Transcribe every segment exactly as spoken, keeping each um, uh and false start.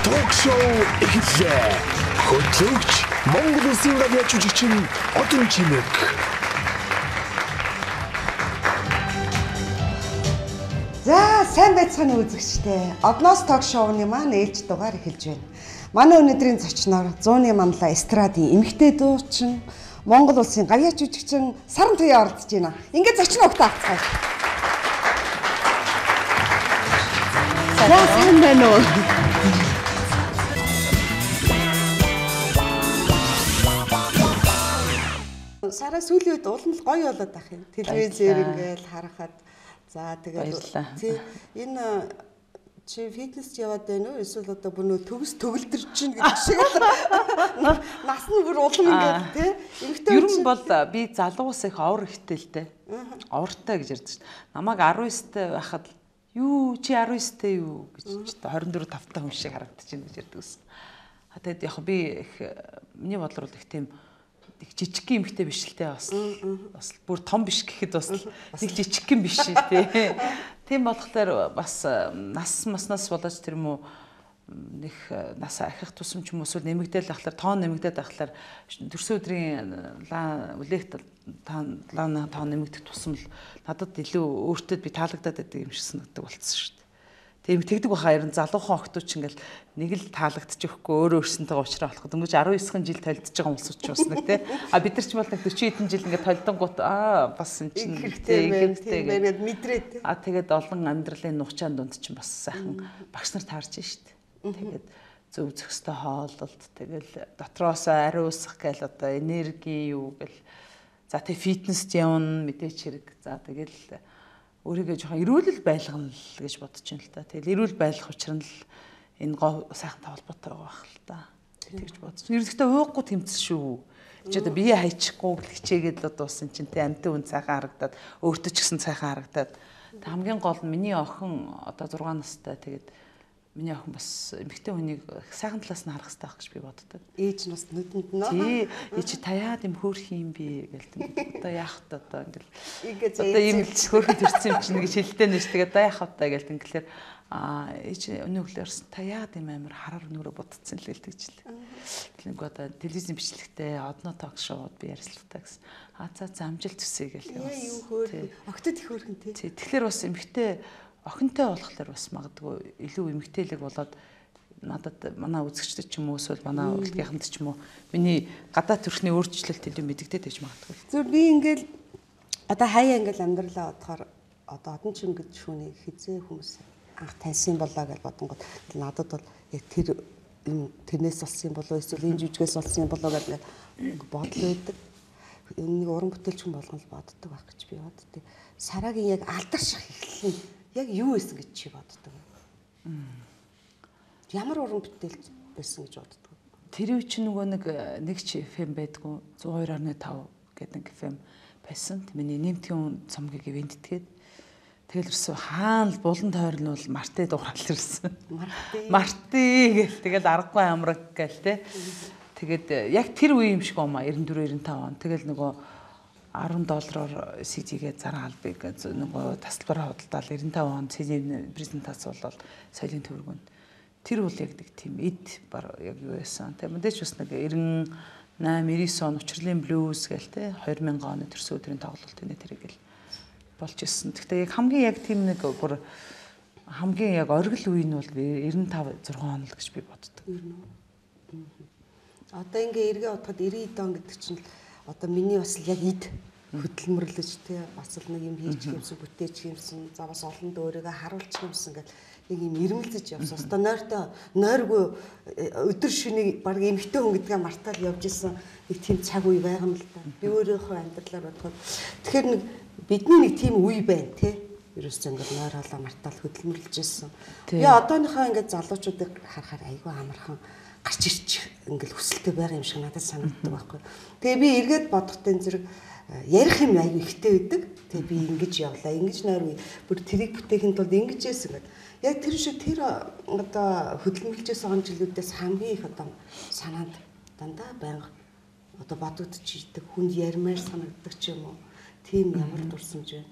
Ток-шоу эхэллээ. Хөтлөгч Монгол Улсын радио жүжигчин Одон Чимэг. За, сайн байцгааны үзэгчдээ. Одноос ток-шоуны маань ээлж дугаар эхэлж байна. Манай өнөөдрийн зочноор зууны манлаа эстрадын эмэгтэй дуучин Монгол Улсын гавьяа жүжигчин Саран Туяа оролцож байна. Ингээд зочин өгтөө авцгаая. За, сайн байна уу? Сара сүүлийн үед улам л гоё болоод байх юм. Телевизээр ингээл харахад за тэгээд тий энэ чи фитнест яваад байна уу? Эсвэл одоо бүр нөө төгс төгөлдөрч чинь гэдэг шиг нас нь бүр улам ингээд тий эмэгтэй ер нь бол би залуус их авар ихтэй л дээ. Авартай гэж ярьдаг шүү дээ. Намайг арван девяттэй байхад юу чи арван девяттэй юу гэж хорин дөрөв тавтай хүн шиг харагдчихэв гэж ярьдаг ус. А тэгээд яг би их миний бодлоор их тийм жижиг эмэгтэй биш л те бас бас бүр том биш гэхэд бас нэг жижиг юм биш тий. Тийм болохоор бас нас маснаас болооч тэр юм уу нэг нас ахих тусам ч юм уу эсвэл нэмэгдээл ахлаар тоон нэмэгдээд ахлаар төрсөн өдрийн үлээх таан тоон нэмэгдэх тусам л надад илүү өөртөө би таалагдаад байдаг юм шиг санагддаг болцсон шүү дээ. Тийм тэгдэг баха ер нь залуухан охтууд ч ингээл нэг л таалагдчих өгөхгүй өөрөө өөрсөнтэйгээ уулзраа болох. Дөнгөж арван девять жил толдож байгаа хүмүүс ч бас нэг тий. А бид нар ч бол нэг дөрвөн хэдэн жил ингээд толдонгууд аа бас энэ чинь хэрэгтэй байгаад мэдрээд тий. А тэгээд олон амьдралын нухчаан дунд чинь бас сайхан багш нар таарч штт. Тэгээд зөв зөвхөстэй хооллолт тэгэл дотроос ариун усах гээл одоо энерги юу гэл за тэг фитнест явна мэдээч хэрэг за тэгэл өөрийгөө жоохон эрүүл байлгана л гэж бодож байна л та. Тэгэл эрүүл байлгах учраас л энэ гоо сайхантай холбоотой байгаа байх л та. Тэгж бодсон. Ерөнхийдөө уухгүй тэмцэл шүү. Чи одоо бие хайчихгүй хичээгээд л одоо усан чинь тэ амтын үн сайхан харагдаад өөртөө ч гэсэн сайхан харагдаад. Тэг хамгийн гол нь миний охин одоо зургаан настай тэгээд миний охин бас эмэгтэй хүнийг сайхан талаас нь харах хэрэгтэй байх гэж би боддог. Ээж нь бас нүдэнд нь тий ээж таяад юм хөөрх юм би гэлтэй. Одоо яах вэ одоо ингээл одоо юм хөөрхөд төрсөн юм чинь гэж хэлдэг нь ш. Тэгээд одоо яах вэ гээл ингээл а ээж өнөглөөрс таяад юм амар хараар өнөөрөө бодцсон л гэлдэг ч л. Нэг одоо телевизийн бичлэгтээ одно ток шоуд би ярилцлагатай гэсэн. А за за амжилт төсөй гээл яваа. Юу хөөрхөн. Октод их хөөрхөн тий. Тий тэгэхээр бас эмэгтэй охинтой болохоор бас магадгүй илүү эмэгтэйлэг болоод надад манай үзэгчдэд ч юм уу эсвэл манай урлагийнханд ч юм уу миний гадаа төрхний өөрчлөлт илүү мэдэгдээд байж магадгүй. Зөв би ингээл одоо хаяа ингээл амьдралаа бодохоор одоо одон чин гэж шүүний хизээ хүмүүс анх таньсан болоо гэж бодонгод надад бол яг тэр тэрнээс болсон болоо эсвэл энэ жүжигээс болсон болоо гэж бодол өгдөг. нэг уран бүтээлч хүн болгоно л боддог байх гэж би боддог. Сарагийн яг алдарших эхлэл нь яг юу байсан гэж чи боддог вэ? Ямар уран бүтээлч байсан гэж боддог вэ? Тэр үе чинь нөгөө нэг нэг ч эф эм байдгүй зуун хоёр дасам тав гэдэг нэг эф эм байсан. Миний нэмтгийн цомгийг ивэнтгээд тэгэл ирсэн хаана булан тойрол бол марти дуурал ирсэн. Марти. Марти гэл тэгэл аргагүй амраг гэл те. Тэгээд яг тэр үе юм шиг юм а девяносто четыре девяносто пять он. Тэгэл нөгөө ten доллараар си ди-гээ заран албыг нөгөө тасалбараа худалдаал девяносто пять онд си ди-ний презентац болол соёлын төвөргөнд. Тэр бол яг нэг тийм эд баг яг юу байсан. Тэгээ мэдээч бас нэг ninety eight ninety-nine он учрлын блюз гээл те two thousand оны төрсөн өдрийн тоглолт энэ тэрийг л болж ирсэн. Гэхдээ яг хамгийн яг тийм нэг бүр хамгийн яг оргил үе нь бол ninety-five six он л гэж би боддог. Одоо ингээ эргээ бодоход ninety он гэдэг чинь одоо миний бас яг эд хөдөлмөрлөж те бас л нэг юм хийж гэмсэн бүтээж гэмсэн за бас олонд өөрийгөө харуулж гэмсэн гэл нэг юм ирмэлзэж явсан. Одоо нойртой нойргүй өдөр шөнийн баг эмхтэй хүн гэдгээ мартаад явж исэн нэг тийм цаг үе байгаа юм л да. Би өөрийнхөө амьдралаар бодоход тэгэхээр нэг бидний нэг тийм үе байна те. Ерөөсөө ингээд нойр халаа мартаал хөдөлмөрлөж исэн. Би одооныхоо ингээд залуучуудыг харахаар айгүй амархан гарч ирчих ингээл хүсэлтэй байгаа юм шиг надад санагддаг байхгүй. Тэгээ би эргээд бодохтой зэрэг ярих юм аягүй ихтэй байдаг. Тэгээ би ингэж явлаа, ингэж нойр бүр тэрийг бүтээхэд бол ингэж яасан гэдэг. Яг тэр шиг тэр одоо хөдөлмөрлөжсэн он жилүүдээс хамгийн их одоо санаанд дандаа байнга одоо бодогдож идэг хүнд ярмаар санагддаг ч юм уу. Тийм ямар дурсамж вэ?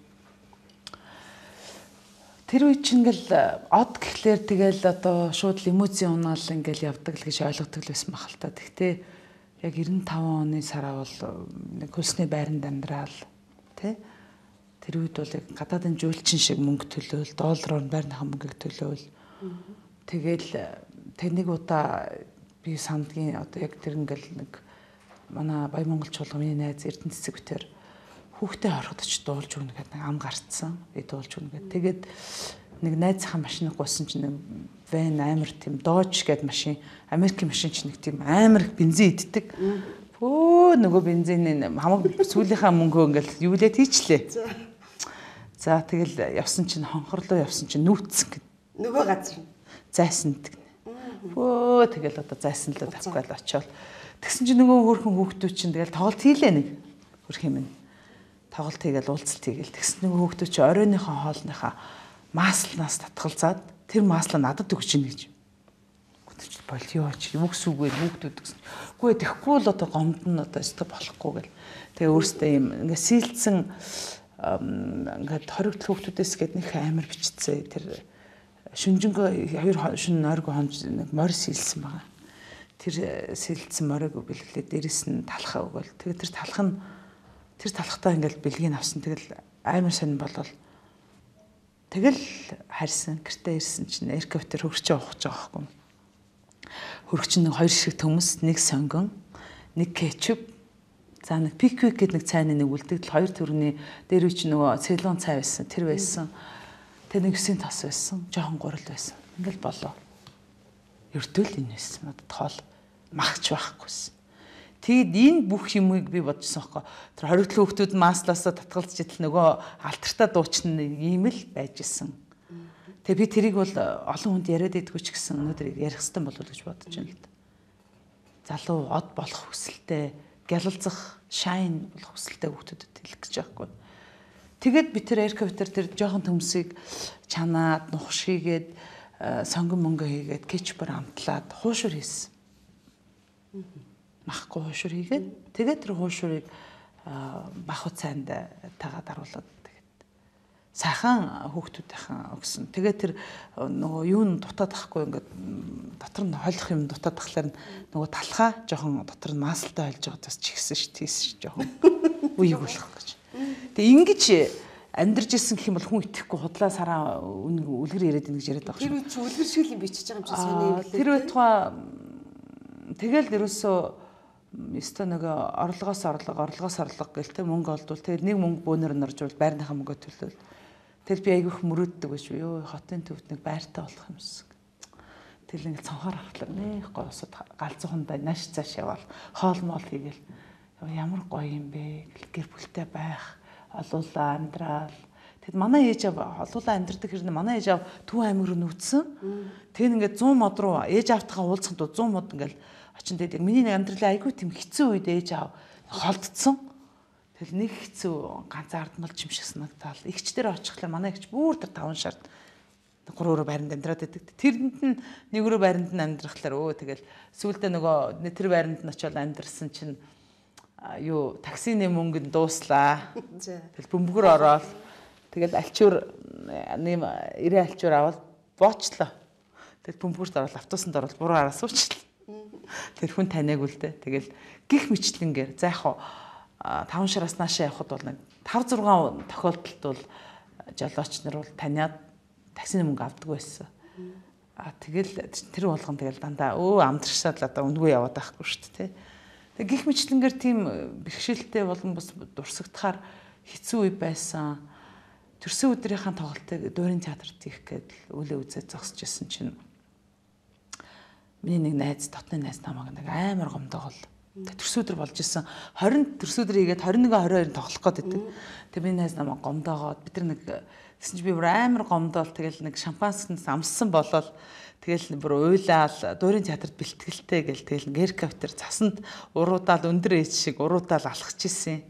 Тэр үе чинь ингээл од гэхлээр тэгэл одоо шууд лимузин унаал ингээл явдаг л гэж ойлгодог л байсан баг л та. Гэхдээ яг ninety-five оны сараа бол нэг хөлсний байранд амьдрал тий. Тэр үед бол яг гадаадын жуулчин шиг мөнгө төлөөл, доллараар байрныхаа мөнгөийг төлөөл. Тэгэл тэр нэг удаа би сандгийн одоо яг тэр ингээл нэг манай Баян Монгол чуулганы найз Эрдэнэ цэцэг бүтээр хүүхдээ ороход ч дуулж өгнө гэдэг нэг ам гарцсан. Би дуулж өгнө гэдэг. Тэгээд нэг найзынхаа машиныг гуйсан чинь нэг вэн амар тийм Dodge гэдэг машин, Америкийн машин чинь нэг тийм амар их бензин иддэг. Өө нөгөө бензины хамаг сүүлийнхаа мөнгөө ингээл юу лээ тийчлээ. За тэгэл явсан чинь хонхорлоо явсан чинь нүүцсэн гэд. Нөгөө газар нь зайсан гэдэг. Өө тэгэл одоо зайсан л тавьгаал очиод. Тэгсэн чинь нөгөө хөөрхөн хүүхдүүд чинь тэгэл тоглолт хийлээ нэг хөрх юм. Тоглолт хийгээл уулзалт хийгээл тэгсэн нөгөө хүүхдүүд чинь оройныхоо хоолныхаа маслнаас татгалзаад тэр маслаа надад өгч ийн гэж. Гүтэж болио чи юу гэсүггүй хүүхдүүд гэсэн. Үгүй тэгэхгүй л одоо гомд нь одоо өстө болохгүй гэл. Тэгээ өөртөө юм ингээ сэлдсэн ингээд хоригдл хүүхдүүдээс гээд нэг амар бичцээ тэр шүнжэнгөө хоёр шүн нойрго хонж нэг морь сэлсэн байгаа. Тэр сэлдсэн морийг бэлгэлээ дээрэс нь талхаа өгөөл. Тэгээ тэр талх нь тэр талхтаа ингээд бэлгийг авсан. Тэгэл амар сонир болол. Тэгэл харьсан гэртээ ирсэн чинь эрквтер хөрчөө ухаж байгаа байхгүй. Хөрөгч нэг хоёр шиг төмөс, нэг сонгон, нэг кетчуп, за нэг пиквик гэдэг нэг цайны нэг үлдэгдэл хоёр төрөний дээр үуч нөгөө цэлон цай байсан. Тэр байсан. Тэр нэг өсийн тос байсан. Жохон гурал байсан. Ингээл болоо. Өртөөл энэ байсан. Надад хоол магч байхгүйсэн. Тэгэд энэ бүх юмыг би бодчихсон байхгүй. Тэр хоригдлын хүүхдүүд маслаасаа татгалзж идэл нөгөө алтартаа дуучна ийм л байж исэн. Тэгээ би тэрийг бол олон хүнд яриад идэггүй ч гэсэн өнөөдөр ярих хэрэгтэй болов уу гэж бодож байна л да. Залуу од болох хүсэлтэй, гялалзах, шайн болох хүсэлтэй хүүхдүүдэд хэлэх гэж байхгүй. Тэгээд би тэр эрквтер тэр жоохон төмсийг чанаад, нухш хийгээд, сонгон мөнгө хийгээд, кетчупаар амтлаад хуушур хийсэн. Махгүй хуушур хийгээд тэгээд тэр хуушурыг бах уцаанд тагаад аруулаад тэгээд сайхан хүүхдүүдийнхэн өгсөн. Тэгээд тэр нөгөө юу н дутаад ахгүй ингээд дотор нь хойлох юм дутаад тахлаар нөгөө талхаа жоохон дотор нь маслтай хойлж байгаа бас чигсэн ш тийсэн ш жоохон үеиг болох гэж. Тэгээд ингэж амьдарч исэн гэх юм бол хүн итгэхгүй худлаа сараа үлгэр яриад ийн гэж яриад байгаа шүү. Тэр үе чи үлгэр шиг юм бичиж байгаа юм чи сони юм лээ. Тэр үе тухай тэгэл ерөөсөө өстө нэг орлогоос орлого орлогоос орлого гэлтэй мөнгө олдвол тэгэл нэг мөнгө бөөнөр норжвол байрныхаа мөнгөө төлөөл. Тэгэл би айгүйх мөрөөддөг байж юу хотын төвд нэг байртай болох юмс. Тэгэл ингэ цонхоор харахлаа нэх гоосод галзуу хундаа нааш цааш явал хоол моол хийгээл Ямар гоё юм бэ? Гэр бүлтэй байх, олуулаа амьдрал. Тэгэд манай ээж аав олуулаа амьдрдаг хэрнээ манай ээж аав Төв аймаг руу нүүцсэн. Тэгэн ингээд цон мод руу ээж аавтайгаа уулзсанд цон мод ингээд очин тэгээд яг миний нэг амьдралын айгүй тийм хэцүү үед ээж аав холдсон. Тэгэл нэг хэцүү ганцаардмал юм шиг санагдал. Игч дээр очихлаа манай игч бүр тэр таван шард гурав өрөө байранд амьдраад байдаг. Тэрэнд нь нэг өрөө байранд нь амьдрахлаар өө тэгэл сүүлдээ нөгөө тэр байранд нь очиод амьдрсан чинь юу таксины мөнгөнд дууслаа. Тэгэл бөмбөгөр ороод тэгэл альчуур нэм ирээ альчуур аваад боочлоо. Тэгэл бөмбөгөрт ороод автобусанд ороод буруу араа суучлаа. Тэр хүн таниаг үлдээ. Тэгэл гих мэтлэнгээр за яг таван шараас наашаа явхад бол нэг тав зургаан тохиолдолд бол жолооч нар бол таниад таксины мөнгө авдаг байсан. А тэгэл тэр болгон тэгэл дандаа өө амтрагшаад л одоо үндгүй яваад байхгүй шүү дээ. Тэг гих мэтлэнгээр тийм бэрхшээлтэй болон бас дурсагдахаар хэцүү үе байсан. Төрсөн өдрийнхаа тоглолтыг Дуурин театрт хийх гээд өлөө үзээд зогсож исэн чинь миний нэг найз дотны найз намайг нэг амар гомдоогол. Төрсөн өдөр болж исэн хорин төрсөн өдөр хийгээд двадцать one twenty-two тоглох гээд байдаг. Тэг миний найз намайг гомдоогоод бид нар нэг гэсэн чи би бүр амар гомдоол тэгэл нэг шампанскнаас амссан болол тэгэл бүр уйлаал Дуурин театрт бэлтгэлтэй гэл тэгэл геркав тэр цасанд уруудаал өндөр ээж шиг уруудаал алхаж исэн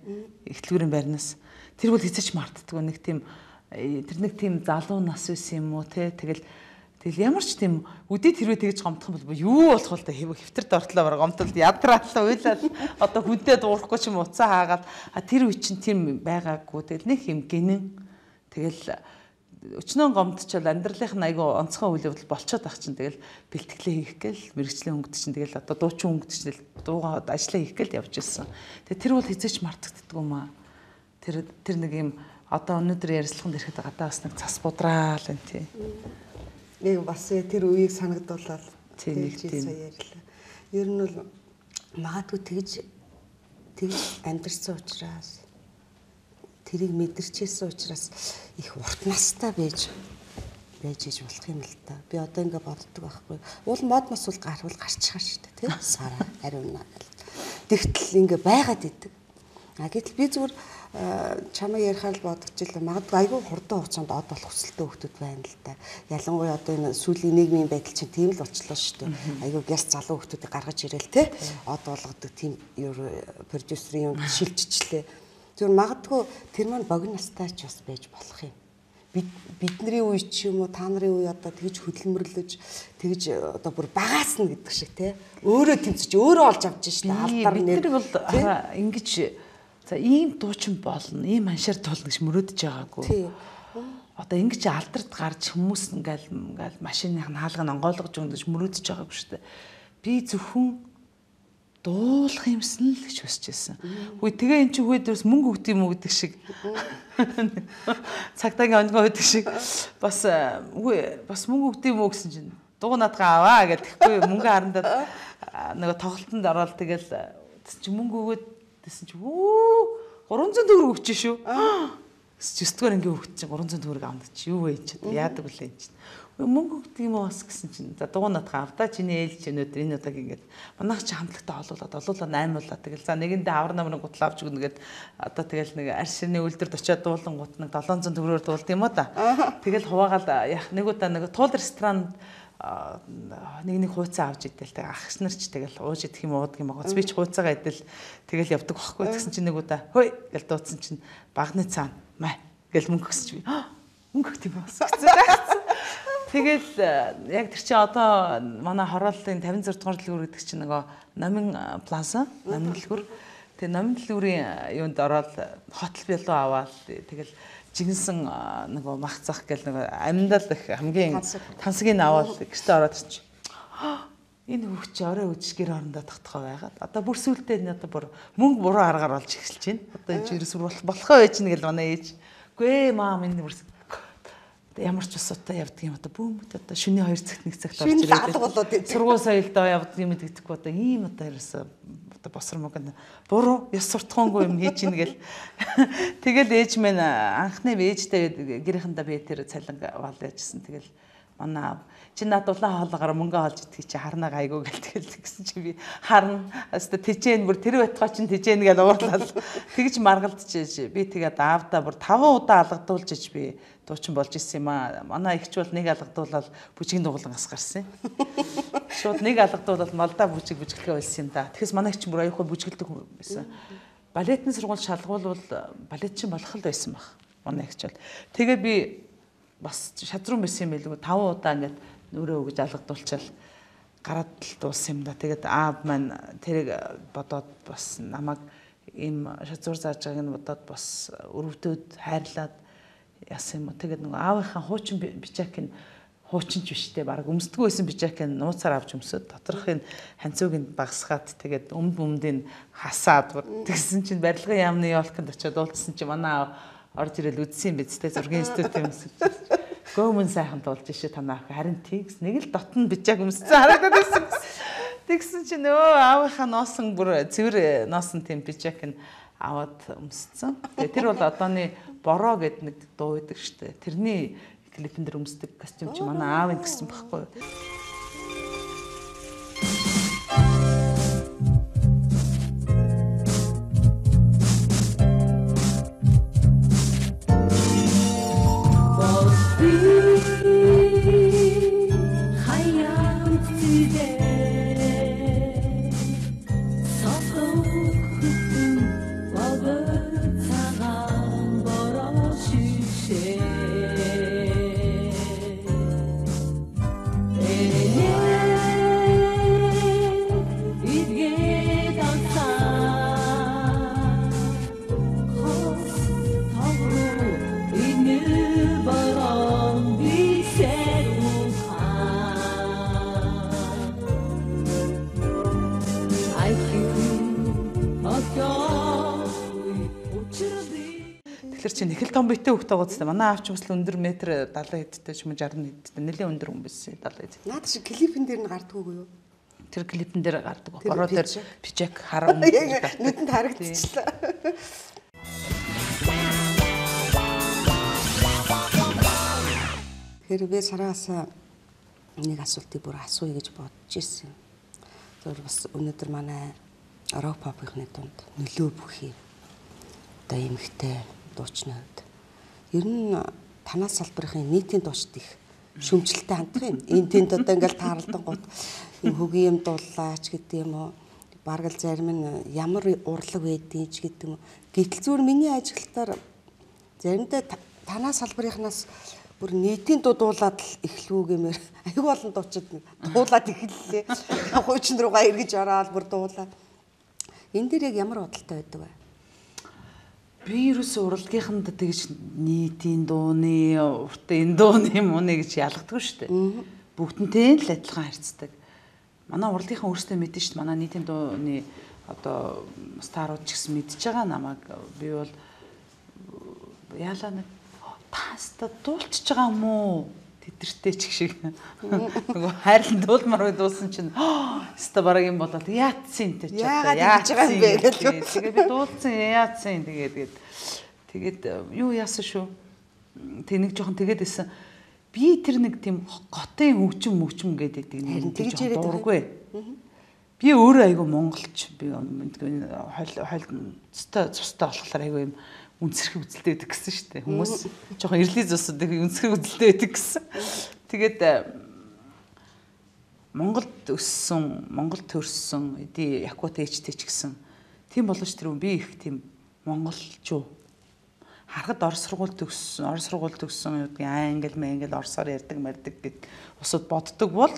ихтлгүүрийн байрнаас тэр бол хэзээ ч мартдаггүй нэг тийм тэр нэг тийм залуу нас байсан юм уу те тэгэл тэгэл ямар ч тийм үдээ тэрвээ тэгж гомдох юм бол юу болох вэ хэв хэвтэрд ортлоо баг гомдолд ядраалаа уйлал одоо хүнтэй дуурахгүй ч юм уцаа хаагаад тэр үе чинь тийм байгаагүй тэгэл нэг юм гинэн тэгэл өчнөө гомдчихвол амьдралынх нь айгүй онцгой үйл явдал болчиход байх чинь тэгэл бэлтгэлээ хийх гээл мэрэгчлийн хөнгөд чинь тэгэл одоо дуучин хөнгөд чинь дуугаа ажиллаа хийх гээл явж ирсэн. Тэгээ тэр бол хизээч мартагддаг юм аа. Тэр тэр нэг юм одоо өнөөдөр ярилцлаганд ирэхэд гадаа бас нэг цас будраал энэ тий. Нэг бас тэр үеийг санагдуулаад тийм нэг тийм ярьлаа. Ер нь бол магадгүй тэгж тэгж амьдэрсэн учраас тэрийг мэдэрчээсэн учраас их урт настай байж байж иж болох юм л та. Би одоо ингэ боддог байхгүй. Уул мод мос бол гарвал гарчихаа шүү дээ, тийм сараа ариунаа гэл. Тэгтэл ингэ байгаад идэг. А гэтэл би зүгээр чамаа ярихаар л бодогчлаа. Магадгүй айгүй хурдан хугацаанд од болох хүсэлтэй хүмүүс байна л та. Ялангуяа одоо энэ сүүлийн нийгмийн байдал чинь тийм л болчлоо шүү дээ. Айгүй гяс залуу хүмүүсийг гаргаж ирээл те. Од болгодог тийм продюсерийн юм шилжчихлээ. Зүгээр магадгүй тэр маань богино настай ч бас байж болох юм. Бид бидний үе ч юм уу та нарын үе одоо тэгж хөдөлмөрлөж тэгж одоо бүр багаасна гэдэг шиг те. Өөрөө тэмцэж өөрөө олж авч шин алдар нэр. Бид нар бол ингэж за ийм дуучин болно, ийм аншаар тулна гэж мөрөөдөж байгаагүй. Одоо ингэж алдарт гарч хүмүүс ингээл ингээл машиных нь хаалгыг онгойлгож өгнөж мөрөөдөж байгаагүй шүү дээ. Би зөвхөн дуулах юмсан л гэж хүсэж байсан. Хөөе тэгээ эн чинь хөөе дээрс мөнгө өгд юм уу гэдэг шиг. Цагтаагийн онгоо өгдөг шиг бас хөөе бас мөнгө өгд юм уу гэсэн чинь дуу надгаа аваа гэхгүй мөнгө харандаад нөгөө тоглолтод ороод тэгэл чи мөнгө өгөөд гэсэн чи өө гурван зуун төгрөг өгч шүү. Жистгээр ингээ өгч чи гурван зуун төгрөг аваад чи юу вэ чи яадаг үлээ чи. Мөнгө өгдөг юм уу гэсэн чинь за дуу надгаа авдаа чиний ээлж өнөөдөр энэ удааг ингээд манайх чи хамтлагтай олуулаад олуулаа наймуулаа тэгэл за нэгэндээ авар намрын гутал авч өгнө гэд одоо тэгэл нэг арь ширний үлдэрд очиад дуулан гут нэг долоон зуун төгрөгөөр дуулд юм уу да. Тэгэл хуваагаад яг нэг удаа нэг туул ресторан нэг нэг хууцаа авч идэл тэг ахс нар ч тэгэл ууж идэх юм уудаг юм аа. Би ч хууцаагаа идэл тэгэл явдаг байхгүй гэсэн чинь нэг удаа хөөе гэл дуудсан чинь багны цаана маа гэл мөнгө өгсөж би мөнгө өгт юм бас гэсэн. Тэгэл яг тэр чинь одоо манай хорооллын тавин зург дугаар дэлгүүр гэдэг чинь нөгөө Номин плаза, Номин дэлгүүр. Тэгээ Номин дэлгүүрийн юунд ороод хотел билүү аваад тэгэл жигэнсэн нөгөө мах зах гэл нөгөө амьдал их хамгийн тансгийг аваад гэртээ ороод ирчих. Энэ хүүхд чи орой үдшиг гэр орондоо тогтхоо байгаад одоо бүр сүултээ энэ одоо бүр мөнгө буруу аргаар болж эхэлж байна. Одоо энэ жирэс болохоо байж нэг л манай ээж. Үгүй ээ маа минь бүр ямар ч усуудаа явдаг юм одоо бөөмөд одоо шөнийн хоёр цагт нэг цагт орж ирээд сургууль соёлдоо явдаг юм гэдэгтэхгүй одоо ийм одоо ерөөсө одоо босромог нь буруу ёс суртахуунгүй юм хийж ийн гэл тэгэл ээж минь анхны ээжтэй гэрийнхэндээ би тэр цалин вал яжсэн тэгэл Манай чи над улаан хоолоогоор мөнгө олж идэх чи харна гайгүй гэлтэл гэсэн чи би харна. Хаста тижээн бүр тэр байтгаа чин тижээн гэж уурлал. Тэгж маргалдчихэж би тэгээд аавдаа бүр таван удаа алгадуулж иж би дуучин болж исэн юм аа. Манай ихч бол нэг алгадуулаад бүжгийн дугуулан гас гарсан. Шууд нэг алгадуулаад малдаа бүжиг бүжгэлгээ болсон юм да. Тэгэхээс манай ихч бүр аяхгүй бүжгэлдэг хүн байсан. Балетны сургууль шалгуул бол балетчин болох л байсан баг. Манай ихч бол. Тэгээ би бас шадруу байсан юм байлгүй таван удаа ингээд нүрээ өгж алгадуулчаал гараад л дууссан юм да. Тэгээд аав маань тэрийг бодоод бас намайг ийм шазуур зааж байгааг нь бодоод бас өрөвдөд хайрлаад яасан юм уу. Тэгээд нөгөө аавынхаа хуучин бичаакийг хуучинч биштэй баг өмсдөггүй байсан бичаакийг нууцаар авч өмсөд доторхын ханцууг нь багсгаад тэгээд өмд өмдийг хасаад тэгсэн чинь барилгын яамны ёолконд очиод уулзсан чинь манай аав орж ирэл үзсэн юм биз дээ зургийн институт юм шиг. Гомон сайхан дуулж ишээ танаа харин тийгс нэг л дотн бичааг өмссөн харагдаад байсан. Тэгсэн чинь өө аавынхаа носон бүр цэвэр носон тийм бичаак нь аваад өмссөн. Тэгээ тэр бол одооны бороо гэдэг нэг дуу байдаг штэ. Тэрний клипэн дээр өмсдөг костюм чи манай аав нь гэсэн байхгүй юу? Тэгэхээр чи нэг л том битэй хөхтэй байгаа зү. Манай аавч бас л өндөр метр далайн хэдтэй ч юм уу шарна хэдтэй. Нэлээд өндөр хүн байсан далайн хэд. Наад чи клипэн дээр нь гардггүй юу? Тэр клипэн дээр гардаг. Бороо дээр бичэк хараа өмнө нүдэнд харагдчихлаа. Тэгэхээр би сараас нэг асуултыг бүр асууя гэж бодож ирсэн. Тэр бас өнөөдөр манай рок попын дунд нөлөө бүхий одоо эмхтэй дуучнууд ер нь танаас салбарын нийтийн дуучид их шүмжлэлтэй хандах юм. Энэ тэнд одоо ингээл тааралдан гот юм хөгийн юм дуулаач гэдэг юм уу. Бараг л зарим нь ямар урлаг байдгийг ч гэдэг юм уу. Гэтэл зүгээр миний ажиглалтаар заримдаа танаас салбарынхнаас бүр нийтийн дуу дуулаад л эхлүү гэмээр аюу олон дуучид дуулаад эхэллээ. Хуучин руугаа эргэж ороод бүр дуулаа. Энэ дээр яг ямар бодолтой байдаг вэ? Би ерөөсөө урлагийнханд тэгж нийтийн дууны, уртын дууны мууны гэж ялгадаггүй шүү дээ. Бүгднтэй л адилхан харьцдаг. Манай урлагийнхан өөрсдөө мэдэн шүү дээ. Манай нийтийн дууны одоо старууд ч гэсэн мэдж байгаа намайг. Би бол яалаа нэг таста дуулчихж байгаа юм уу? Тэтэртэй ч их шиг. Нөгөө хайрлан дуулмаар дуусан чинь өстө бараг юм болоод яатсан тэ ч одоо яатсан юм бэ гэл. Тэгээ би дуулсан яатсан тэгээд тэгээд юу яасан шүү. Тэг нэг жоохон тэгээд исэн. Би тэр нэг тийм готын хөгжим мөгжим гэдэг нэг тэгж дуургүй. Би өөрөө айгүй монголч. Би хойл хойл цустай цустай болохоор айгүй юм үнсэрхэг үзэлтэй байдаг гэсэн шүү дээ. Хүмүүс жоохон эрлийн зусуудыг үнсэрхэг үзэлтэй байдаг гэсэн. Тэгээд Монголд өссөн, Монголд төрсөн, эдий Якут ээжтэй ч гэсэн тийм болооч тэр би их тийм монголчуу. Харахад орос сургууль төгссөн, орос сургууль төгссөн юу гэдэг англи, мэнгэл орсоор ярьдаг, мардаг гэд усууд боддог бол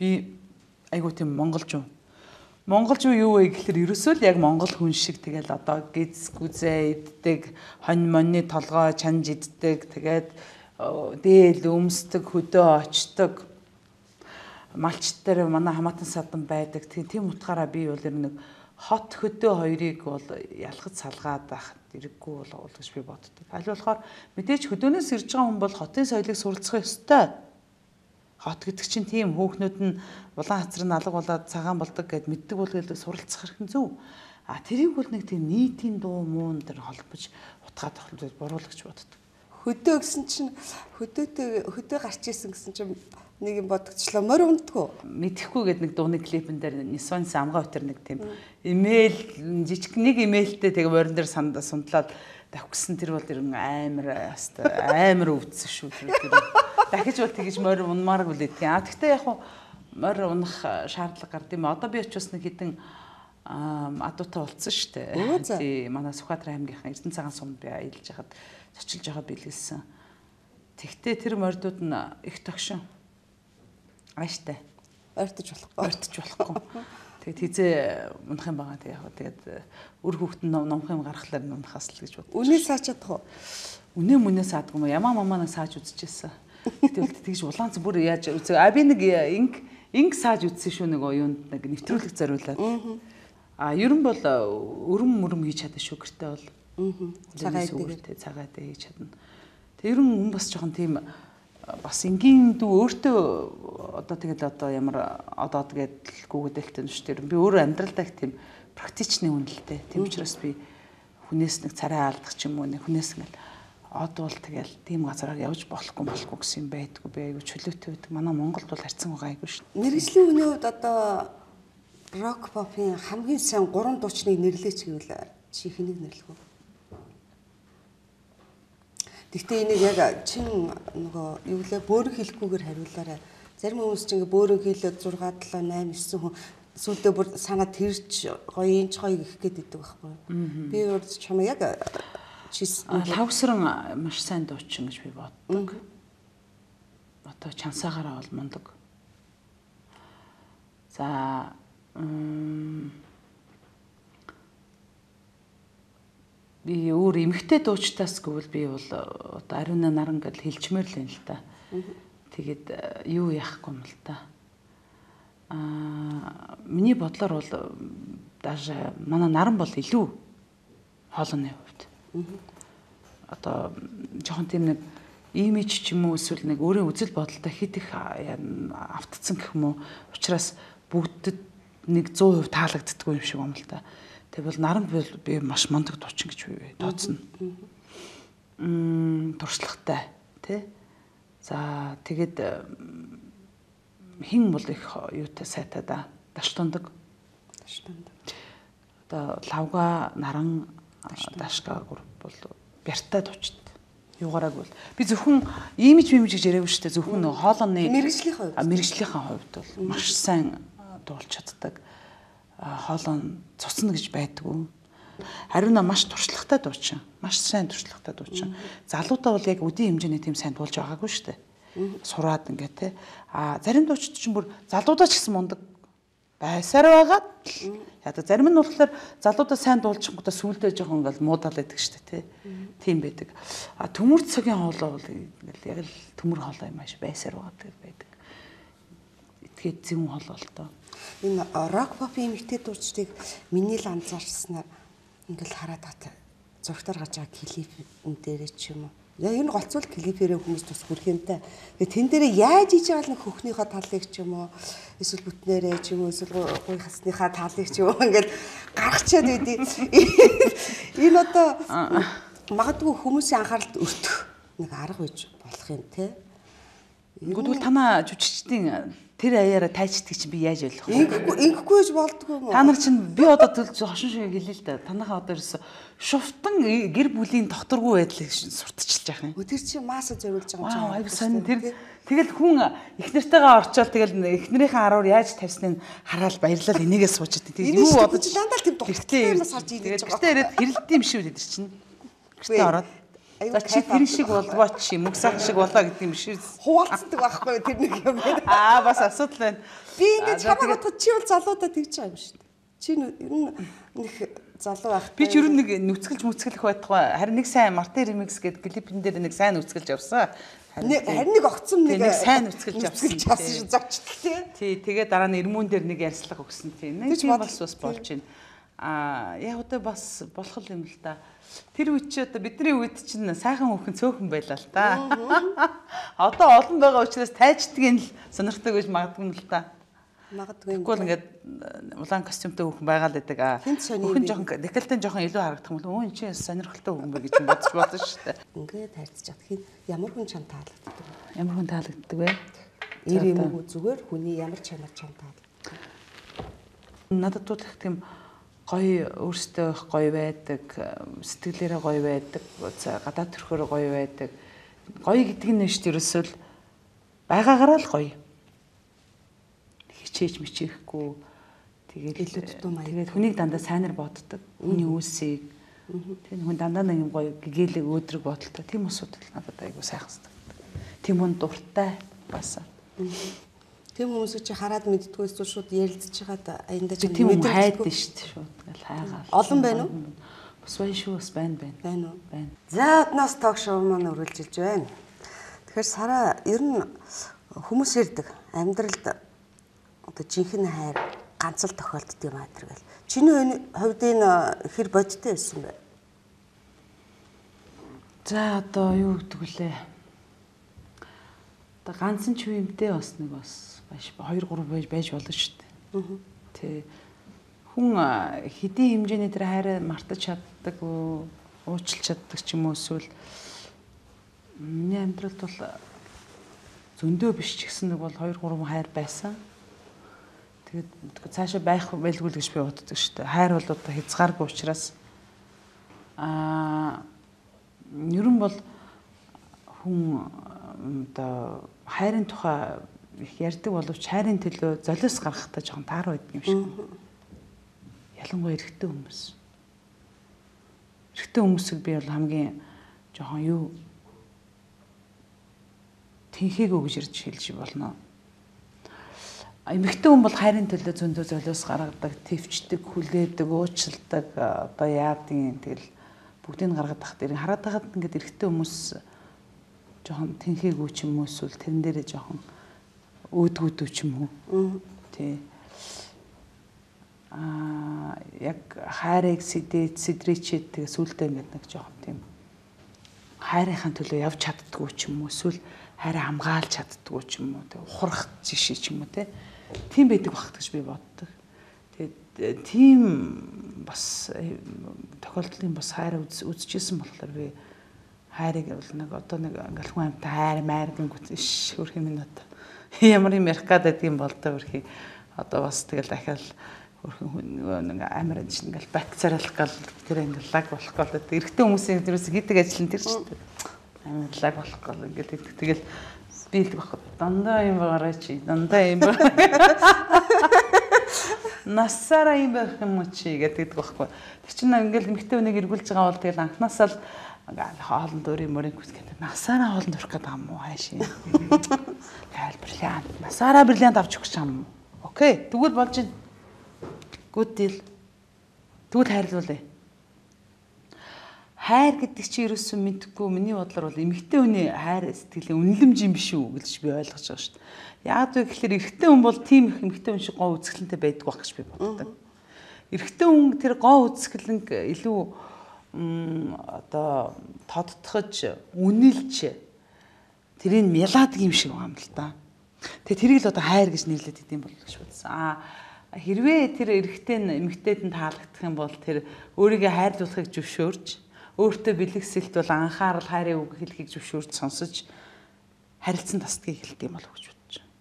би айгүй тийм монголчуу. Монголч юу вэ гэхээр ерөөсөө л яг монгол хүн шиг тэгэл одоо гиз гүзээ иддэг, хонь монны толгой чанж иддэг, тэгээд дээл өмсдөг, хөдөө очдог. Малч дээр манай хамаатан садан байдаг. Тийм утгаараа би бол ер нь хот хөдөө хоёрыг бол ялгаж салгаад байх хэрэггүй бол гэж би боддог. Аль болохоор мэдээж хөдөөнөөс ирж байгаа хүн бол хотын соёлыг суралцах ёстой. Хот гэдэг чинь тийм хүүхнүүд нь улаан хацар нь алга болоод цагаан болдог гэд мэддэг бол суралцах хэрэг зөв. А тэрийг бол нэг тийм нийтийн дуу муун дээр холбож утгаад тохиолдож буруулагч боддог. хөдөө гэсэн чинь хөдөөтэй хөдөө гарч исэн гэсэн чинь нэг юм бодогчлоо морь ундгүй. Мэдхгүй гэдэг нэг дууны клипэн дээр Нисонс амгаа өтер нэг тийм имэйл жижиг нэг имэйлтэй тэгээ морин дээр сандаа сундлаад давхсан тэр бол ер нь амар амар өвдсөн шүү тэр. Дахиж бол тэгэж морь унмаар үлээд тийм. А тэгтээ яг морь унах шаардлага гард юм. Одоо би очиж нэг хідэн адуутай болцсон шүү дээ. Тийм манай Сүхбаатар аймгийнхан Эрдэнэ цагаан сумд би аялж хахад цочилж байгаа бэлгэлсэн. Тэгтээ тэр морьдууд нь их тогшин. Ааштай. Ойртож болохгүй. Ойртож болохгүй. Тэгээд хизээ унах юм байгаа. Тэгээд яг тэгээд үр хүүхэд нь номх юм гаргахлаар унахаас л гэж бодсон. Үнээ сааж чадах уу? Үнээ мүнээ саадгүй юм. Ямаа мамаа сааж үзчихсэн. Тэгвэл тэгж улаанц бүр яаж үзээ. А би нэг инг инг сааж үзсэн шүү нэг оюунд нэг нэвтрүүлэг зориулаад. А ер нь бол өрөм мөрөм хийж чадна шүү гэртээ бол. Цагаат тэгээд цагаат хийж чадна. Тэг ер нь хүн бас жоохон тийм бас энгийн дүү өөртөө одоо тэгэл одоо ямар одоо тэгээд гүгдэлтэй нь шүү дээ. Би өөрөө амьдралдаа их тийм практичны хүн л дээ. Тийм учраас би хүнээс нэг царай алдах ч юм уу нэг хүнээс ингээл одвол тэгэл тийм газараар явж болохгүй болохгүй гэсэн юм байдгүй. Би айгүй чөлөөтэй байдаг. Манай Монголд бол харьцан байгаа айгүй шүү. Мэргэжлийн хүний хувьд одоо рок попын хамгийн сайн гурван дуучныг нэрлэеч гэвэл чи хэнийг нэрлэх вэ? Гэхдээ энийг яг чин нөгөө юу лээ бөөрөн хэлэхгүйгээр хариулаарай. Зарим хүмүүс чинь ингээ бөөрөн хэлээд шесть семь восемь хүн сүүлдээ бүр санаа тэрч гоё инч гоё гэх гээд идэг байхгүй. Би өөр чамаа яг чис лавсран маш сайн дуучин гэж би боддог. Одоо чансаагаараа бол мундаг. За би өөр эмгтэй дуучтаас гэвэл би бол одоо ариуна наран гэж хэлчмээр л юм л та. Тэгээд юу яахгүй юм л та. Аа миний бодлоор бол даже манай наран бол илүү хоолойны хувьд. Одоо жоохон тийм нэг имиж ч юм уу эсвэл нэг өөрийн үзэл бодолтой хит их автцсан гэх юм уу. Учираас бүгдэд нэг сто процент таалагддаггүй юм шиг юм л та. Тэг бол наран би маш мундаг дуучин гэж би тооцно. Мм туршлагатай тий. За тэгээд хин бол их юутай сайтай да. Даш тундаг. Даш тундаг. Одоо лавга наран дашка групп бол бяртай дуучид. Юугаараг бол би зөвхөн имиж имиж гэж яриаггүй шүү дээ. Зөвхөн хоолойны мэргэжлийн хувьд. Мэргэжлийн хувьд бол маш сайн дуулж чаддаг. Хоолой цуцна гэж байдгүй. Харин маш туршлагатай дуучин. Маш сайн туршлагатай дуучин. Залуудаа бол яг үдийн хэмжээний тийм сайн дуулж байгаагүй шүү дээ. Сураад ингээд те. А зарим дуучид чинь бүр залуудаа ч гэсэн мундаг байсаар байгаад яа зарим нь болохоор залуудаа сайн дуулчихгуудаа сүулдэ жоохон ингээл муудаал байдаг шүү дээ те. Тийм байдаг. А төмөр цагийн хоолой бол ингээл яг л төмөр хоолой юм ааш байсаар байгаад байдаг. Итгээд зүүн хоолой л тоо. Энэ рок попын эмэгтэй дуучдыг миний л анзаарснаар ингээл хараад байгаа зургатаар гарч байгаа клипэн дээрээ ч юм уу. Яг энэ голцвол клипээрээ хүмүүс тус хүрх юмтай. Тэгээ тэн дээрээ яаж хийж байгаа л хөхнийхөө талыг ч юм уу эсвэл бүтнээрээ ч юм уу эсвэл гуй хасныхаа талыг ч юм уу ингээд гаргачаад байдیں۔ Энэ одоо магадгүй хүмүүсийн анхааралд өртөх нэг арга байж болох юм те. Тэгвэл танаа жүжигчдийн тэр аяараа тайчдаг чинь би яаж ойлгох вэ? Ингэхгүй ингэхгүй гэж болдгоо юм уу? Та нар чинь би одоо төлж хошин шиг хэлээ л да. Танахаа одоо ерөөсө шуфтан гэр бүлийн докторгүй байдлыг сурталчилж яах юм. Тэр чинь мааса зориулж байгаа юм чинь. Аа айгу сонь тэр тэгэл хүн их нартайгаа орчоод тэгэл их нарийнхаа аруур яаж тавьсныг хараад баярлал энийгээ суучаад тэгээд юу бодож дандаа л тийм доктортой юмас харж ийдэж байгаа. Тэгтээ ирээд хэрэлдэм юм шүү дээ тэр чинь. Гэртээ ороод за чи тэр шиг болвоо чи мөксах шиг болоо гэдэг юм шиг хуваалцдаг байхгүй тэр нэг юм байна. Аа бас асуудал байна. Би ингэ чамаа бодоход чи бол залуудаа тэгж байгаа юм шүү дээ. Чи ер нь нэг залуу байх. Би ч ер нь нэг нүцгэлж мүцгэлэх байтугай харин нэг сайн Мартин Ремикс гэдэг клипэн дээр нэг сайн нүцгэлж явсан. Харин нэг огцом нэг сайн нүцгэлж явсан шүү зочдтой тий. Тий тэгээ дараа нь Эрмүүн дээр нэг ярьслага өгсөн тий. Нэг тийм бас бас болж байна. Аа яг одоо бас болох юм л да. Тэр үед чи одоо бидний үед чинь сайхан хөхөн цөөхөн байлаа л та. Одоо олон байгаа учраас тайчдгийг л сонирхдаг гэж магадгүй л та. Магадгүй. Тэгвэл ингээд улаан костюмтай хүүхэн байгаа л байдаг. Хүүхэн жоохон декольтен жоохон илүү харагдах юм бол өө энэ чинь сонирхолтой хүүхэн бэ гэж бодож болно шүү дээ. Ингээд харьцаж чадах хин ямар хүн чам таалагддаг вэ? Ямар хүн таалагддаг вэ? Ир юм уу зүгээр хүний ямар чанар чам таалагддаг? Надад бол их тийм гоё өөртөө их гоё байдаг, сэтгэлээрээ гоё байдаг, гадаад төрхөөрөө гоё байдаг. Гоё гэдэг нь шүү дээ ерөөсөө байгаагаараа л гоё. Хичээж мичээхгүй тэгээд тэгээд хүнийг дандаа сайнаар боддог. Хүний үүсийг тэгээд хүн дандаа нэг юм гоё гэгээлэг өөдрөг бодолтой. Тийм усуд надад айгуу сайхан санагдав. Тийм хүн дуртай баасаа. Тийм хүмүүсийг чи хараад мэддгүй эсвэл шууд ярилцж байгаад аяндаа чи мэдэрдэг хайдсан шүү дээ шууд ингээл хайгаа. Олон байна уу? Бас байна шүү, бас байна байна. Байна уу? Байна. За одноос ток шоу маань үргэлжилж байна. Тэгэхээр Сара ер нь хүмүүс ярьдаг амьдралд одоо жинхэнэ хайр ганц л тохиолддог юм аа тэргээл. Чиний хувьд энэ хэр бодиттой байсан бэ? За одоо юу гэдэг вүлээ? Одоо ганцхан ч юмтэй бас нэг бас хоёр гурав байж байж болно шүү дээ. Тэ хүн хэдийн хэмжээний тэр хайраа мартаж чаддаг уу, уучлж чаддаг ч юм уу эсвэл миний амьдралд бол зөндөө биш ч гэсэн нэг бол хоёр гурван хайр байсан. Тэгээд цаашаа байх байлгүй л гэж би боддог шүү дээ. Хайр бол одоо хязгааргүй учраас аа ерөн бол хүн одоо хайрын тухай их ярьдаг боловч хайрын төлөө золиос гаргахтаа жоохон таар байдаг юм шиг. Ялангуяа эрэгтэй хүмүүс. Эрэгтэй хүмүүсийг би бол хамгийн жоохон юу тэнхээгүй гэж ирж хэлж болно. Эмэгтэй хүн бол хайрын төлөө зөндөө золиос гаргадаг, төвчдөг, хүлээдэг, уучилдаг, одоо яадгийн тэгэл бүгдийг гаргаад тахт ирэн хараад тахад ингээд эрэгтэй хүмүүс жоохон тэнхээгүй ч юм уу эсвэл тэрэн дээрээ жоохон өөдгүүдүү ч юм уу. Тий. Аа яг хайрыг сэдээд сэдрээчээд тэгээ сүултээ ингээд нэг жоохон тийм хайрынхаа төлөө явж чаддгүй ч юм уу эсвэл хайраа хамгаалж чаддгүй ч юм уу тэгээ ухрах жишээ ч юм уу те. Тийм байдаг багт гэж би боддог. Тэгээд тийм бас тохиолдлын бас хайр үзчихсэн болохоор би хайрыг бол нэг одоо нэг ингээл хүн амтай хайр майр гингүүт иш хөрх юм надад ямар юм ярих гэдэг юм бол та хөрхи одоо бас тэгэл дахиад хөрхөн нэг амар энэ ингээл бакцералах гал тэр ингээл лаг болох гал эрэгтэй хүмүүсийн тэрээс хийдэг ажил нь тэр ч амар лаг болох гал ингээд тэгэл би л баг дандаа юм байгаарай чи дандаа юм насаараа юм байх юм чи гэдэг байхгүй. Тэр чинь ингээл эмэгтэй хүнийг эргүүлж байгаа бол тэгэл анханасаа л хоолнд өрийн мөрийн гүсгээд насаараа хоолнд өрөх гэдэг юм уу хайшин. Тэгэл бриллиант. Насаараа бриллиант авч өгч юм. Окей. Тэгвэл болж байна. Good deal. Тэгвэл хайрлуулъя. Хайр гэдэг чи ерөөсөө мэдхгүй миний бодлоор бол эмэгтэй хүний хайр сэтгэлийн үнэлэмж юм биш үү гэж би ойлгож байгаа шүү дээ. Яг үг гэхээр эрэгтэй хүн бол тийм их эмэгтэй хүн шиг гоо үзэсгэлэнтэй байдаг байх гэж би боддог. Эрэгтэй хүн тэр гоо үзэсгэлэнг илүү одоо тодтохож үнэлж тэрийг мялаадаг юм шиг байна л да. Тэгээ тэрийг л одоо хайр гэж нэрлэдэг юм бол гэж бодсон. Аа хэрвээ тэр эрэгтэй нь эмэгтэйд нь таалагдах юм бол тэр өөрийгөө хайрлуулахыг зөвшөөрж өөртөө бэлгэсэлт бол анхаарал хайрын үг хэлхийг зөвшөөрж сонсож харилцан тасдгийг хэлдэг юм болов уу гэж бодож байна.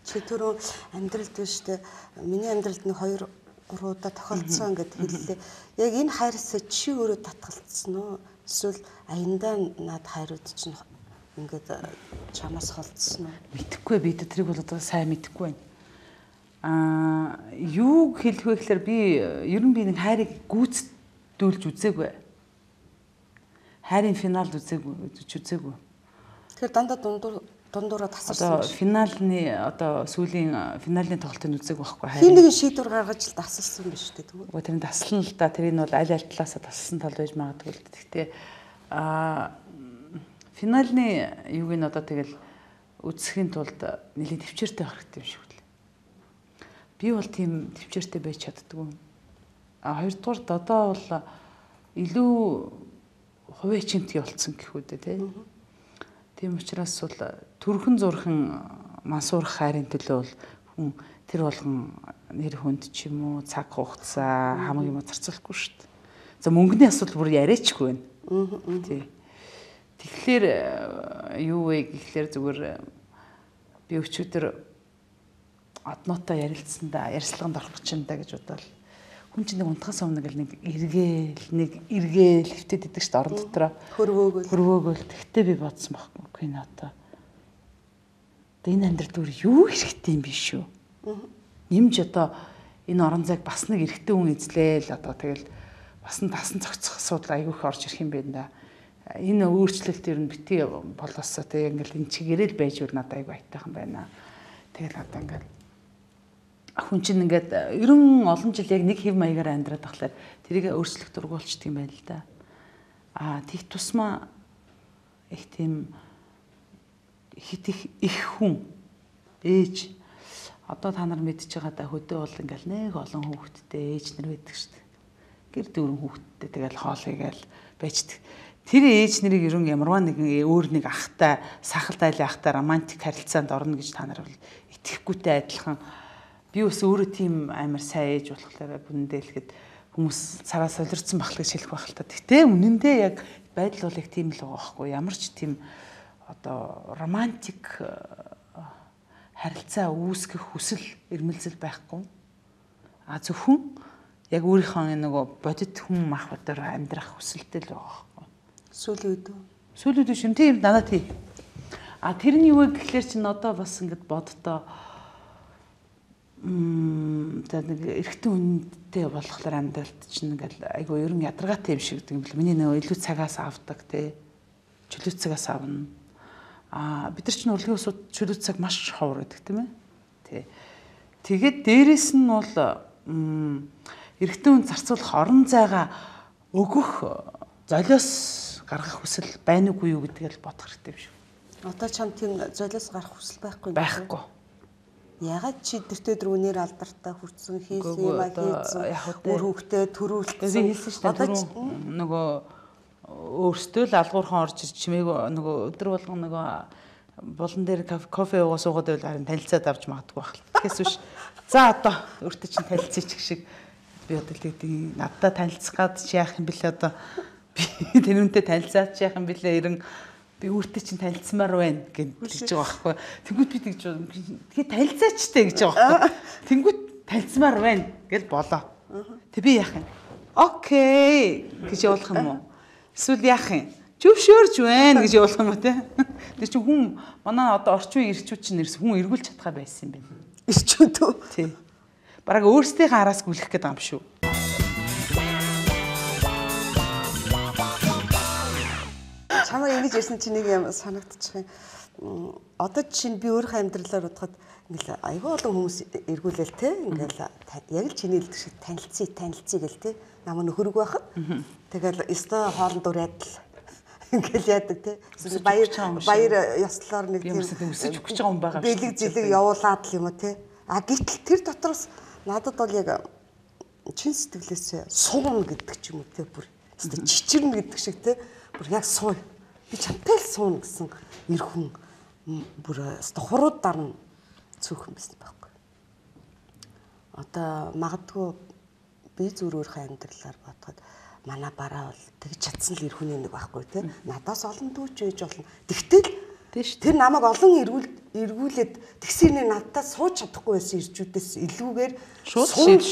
Чи түрүү амьдралд биш үү? Миний амьдралд нэг хоёр гурван удаа тохиолдсон гэд хэллээ. Яг энэ хайрсаа чи өөрөө татгалцсан уу? Эсвэл аяндаа над хайрууд чинь ингээд чамаас холдсон уу? Мэдхгүй би тэрийг бол одоо сайн мэдхгүй байна. Аа юу хэлэх вэ гэхээр би ер нь би нэг хайрыг гүйцэтгүүлж үзээгүй. Хайрын финалд үзээгүй, үзээгүй. Тэгэхээр дандаа дундуур дундуураа тасарсан. Одоо финалны одоо сүүлийн финалийн тоглолтын үзег байхгүй хайр. Хин нэгэн шийдвэр гаргаж л тасалсан биш үү тэгвэл. Өө тэр нь таслан л да тэр нь бол аль аль талаасаа тасалсан тал байж магадгүй л. Гэхдээ аа финалны юуг нь одоо тэгэл үзэхийн тулд нэлийн төвчээртэй байх хэрэгтэй юм шиг үлээ. Би бол тийм төвчээртэй байж чаддгүй. А хоёрдугаарт одоо бол илүү хувийн чимтгий болцсон гэх үү те. Тийм учраас бол төрхөн зурхан мансуурах хайрын төлөө бол хүн тэр болгон нэр хүнд ч юм уу цаг хугацаа хамаг юм зарцуулахгүй шүү дээ. За мөнгөний асуудал бүр яриачгүй байна. Тий. Тэгэхээр юу вэ гэхлээр зүгээр би өчигдөр одноотой ярилцсандаа ярилцлаганд орох гэж байна гэж бодвол хүн чинь нэг унтахаас өмнө гэл нэг эргээл нэг эргээл хөвтөд идэг шүү дээ орон дотроо хөрвөөгөл хөрвөөгөл тэгтээ би бодсон байхгүй кино одоо энэ амьдрал дүр юу хэрэгтэй юм биш үү? Нэмж одоо энэ орон зайг бас нэг эрэгтэй хүн эзлээл одоо тэгэл бас нь тасан цогцох асуудал айгүйх орж ирэх юм байна да. Энэ өөрчлөлт ер нь бити болоосоо тэг ингээл энэ чигээрэл байж үл надад айгүй айтайхан байна. Тэгэл одоо ингээл хүн чинь ингээд ерөн олон жил яг нэг хэв маягаар амьдраад тахлаар тэрийг өөрчлөх дургуулчдаг юм байна л да. Аа тийх тусмаа их тийм хит их их хүн ээж одоо та нар мэдж байгаа да хөдөө бол ингээл нэг олон хүүхэдтэй ээж нар байдаг шүү дээ. Гэр дөрвөн хүүхэдтэй тэгэл хоолыгээл байждаг. Тэр ээж нарыг ерөн ямарваа нэгэн өөр нэг ахтай сахал дайлын ахтай романтик харилцаанд орно гэж та нар бол итгэхгүйтэй адилхан. Би бас өөрөө тийм амар сайн ээж болохоор бүндээ хэлэхэд хүмүүс цараа солирцсон бахлыг шилэх байх л та. Гэтэ үнэндээ яг байдал бол яг тийм л байгаа байхгүй. Ямар ч тийм одоо романтик харилцаа үүсгэх хүсэл эрмэлзэл байхгүй. А зөвхөн яг өөрийнхөө нөгөө бодит хүн махбодоор амьдрах хүсэлтэй л байгаа байхгүй. Сүүлийн үед. Сүүлийн үед шин тийм надад тий. А тэр нь юу вэ гэхлээр чинь одоо бас ингэж боддоо м за нэг эрэгтэй хүнтэй болохоор амьдралд чинь ингээл айгу ерөн ядаргаатай юм шиг гэдэг юм бэл. Миний нөгөө илүү цагаас авдаг тий. Чөлөө цагаас авна. А бид нар чинь урлагийн усууд чөлөө цаг маш ховор гэдэг тийм ээ. Тий. Тэгээд дээрэс нь бол эрэгтэй хүн зарцуулах орон зайгаа өгөх золиос гаргах хүсэл байна уугүй юу гэдгийг л бодох хэрэгтэй юм шиг. Одоо чам тийм золиос гарах хүсэл байхгүй юм. Байхгүй. Ягаад чи тэртээ дөрөвнөр алдартай хүрсэн хийсэн юм а хийсэн өөр хөвгтэй төрүүлсэн. Би хэлсэн шүү дээ. Нөгөө өөртөө л алгуурхан орж ирж чимээг нөгөө өдөр болгон нөгөө булан дээр кофе уугаа суугаад байвал харин танилцаад авч магадгүй байх л. Тэгээс биш. За одоо өөртөө чинь танилцъя ч гэх шиг би одоо л гэдэг надтай танилцах гад чи яах юм бэлээ одоо би тэрүүнтэй танилцаад чи яах юм бэлээ ерэн би өөртөө чинь танилцмаар байна гэж хэлж байгаа байхгүй. Тэнгүүт би тэгж тэгээ танилцаачтай гэж байгаа байхгүй. Тэнгүүт танилцмаар байна гэж болоо. Тэг би яах юм? Окей гэж явуулах юм уу? Эсвэл яах юм? Зөвшөөрч байна гэж явуулах юм уу те? Тэр чинь хүн манай одоо орчин үеийн ирчүүд чинь нэрс хүн эргүүлж чадхаа байсан юм байна. Ирчүүд үү? Тий. Бараг өөрсдийнхээ араас гүйлэх гээд байгаа юм шүү. Чамаа ингэж ирсэн чинь нэг юм санагдчих юм. Одоо чинь би өөрийнхөө амьдралаар бодоход ингээл айгүй олон хүмүүс эргүүлээл те. Ингээл яг л чиний хэлдэг шиг танилцъя, танилцъя гэл те. Намаа нөхөрөг байхад. Тэгэл өстой хоолнд ураад л ингээл яадаг те. Баяр баяр ёслоор нэг тийм өсөж өгч байгаа юм байгаа. Бэлэг зэлэг явуулаад л юм уу те. А гэтэл тэр дотроос надад бол яг чин сэтгэлээс суун гэдэг ч юм уу те бүр өстой чичирнэ гэдэг шиг те. Бүр яг суу. Би чамтай л суун гэсэн эр хүн бүр өстой хурууд дарна цөөхөн байсан байхгүй. Одоо магадгүй би зүрөөрхөө амьдралаар бодоход манай бараа бол тэгж чадсан л эр хүний нэг байхгүй те. Надаас олон дүүч ээж болно. Тэгтэл тэр намайг олон эргүүл эргүүлээд тэгсэрний надтай сууж чадахгүй байсан ирчүүдээс илүүгээр шууд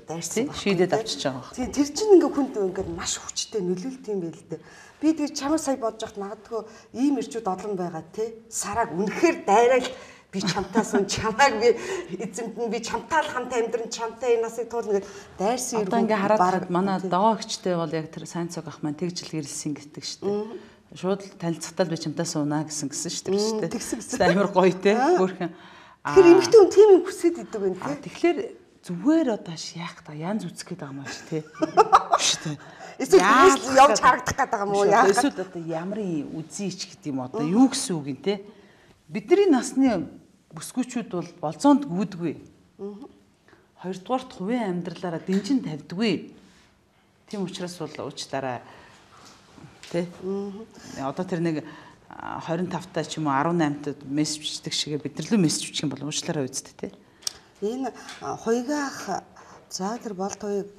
дайрсан шийдээд авчиж байгаа. Тийм тэр чинь ингээ хүнд ингээ маш хүчтэй нөлөөлт юм байл л дээ. Би тэр чамаа сая бодож хат магадгүй ийм ирчүүд олон байгаа те. Сараг үнэхээр дайраал би чамтаас нь чамайг би эзэмт нь би чамтай л хамт амьдран чамтай энэ насыг туулна гэж дайрсан иргэн. Одоо ингээ хараад манай догоогчтэй бол яг тэр сайн цог ах маань тэгж л гэрэлсэн гэдэг шүү дээ. Шууд танилцахтаа би чамтай суунаа гэсэн гэсэн шүү дээ. Тэгсэн гэсэн. Амар гоё те. Хөөрхөн. Тэгэхээр эмэгтэй хүн тийм юм хүсэж идэг байх те. Тэгэхээр зүгээр одоо яах та янз үзэх гээд байгаа юм ааш те. Шүү дээ. Эсвэл явж харагдах гээд байгаа юм уу яах? Эсвэл одоо ямарын үзийч гэдэг юм одоо юу гэсэн үг юм те. Бидний насны бүсгүүчүүд бол болцоонд гүйдгүй. Хоёрдугаарт хувийн амьдралаараа дэнжин тавьдгүй. Тийм учраас бол уучлаарай. Тэ? Одоо тэр нэг двадцать тавтай ч юм уу десять тад мессеж бичдэг шигээ бид нар лөө мессеж бичих юм бол уучлаарай үсттэй те. Энэ хуйгаах за тэр болт хуйг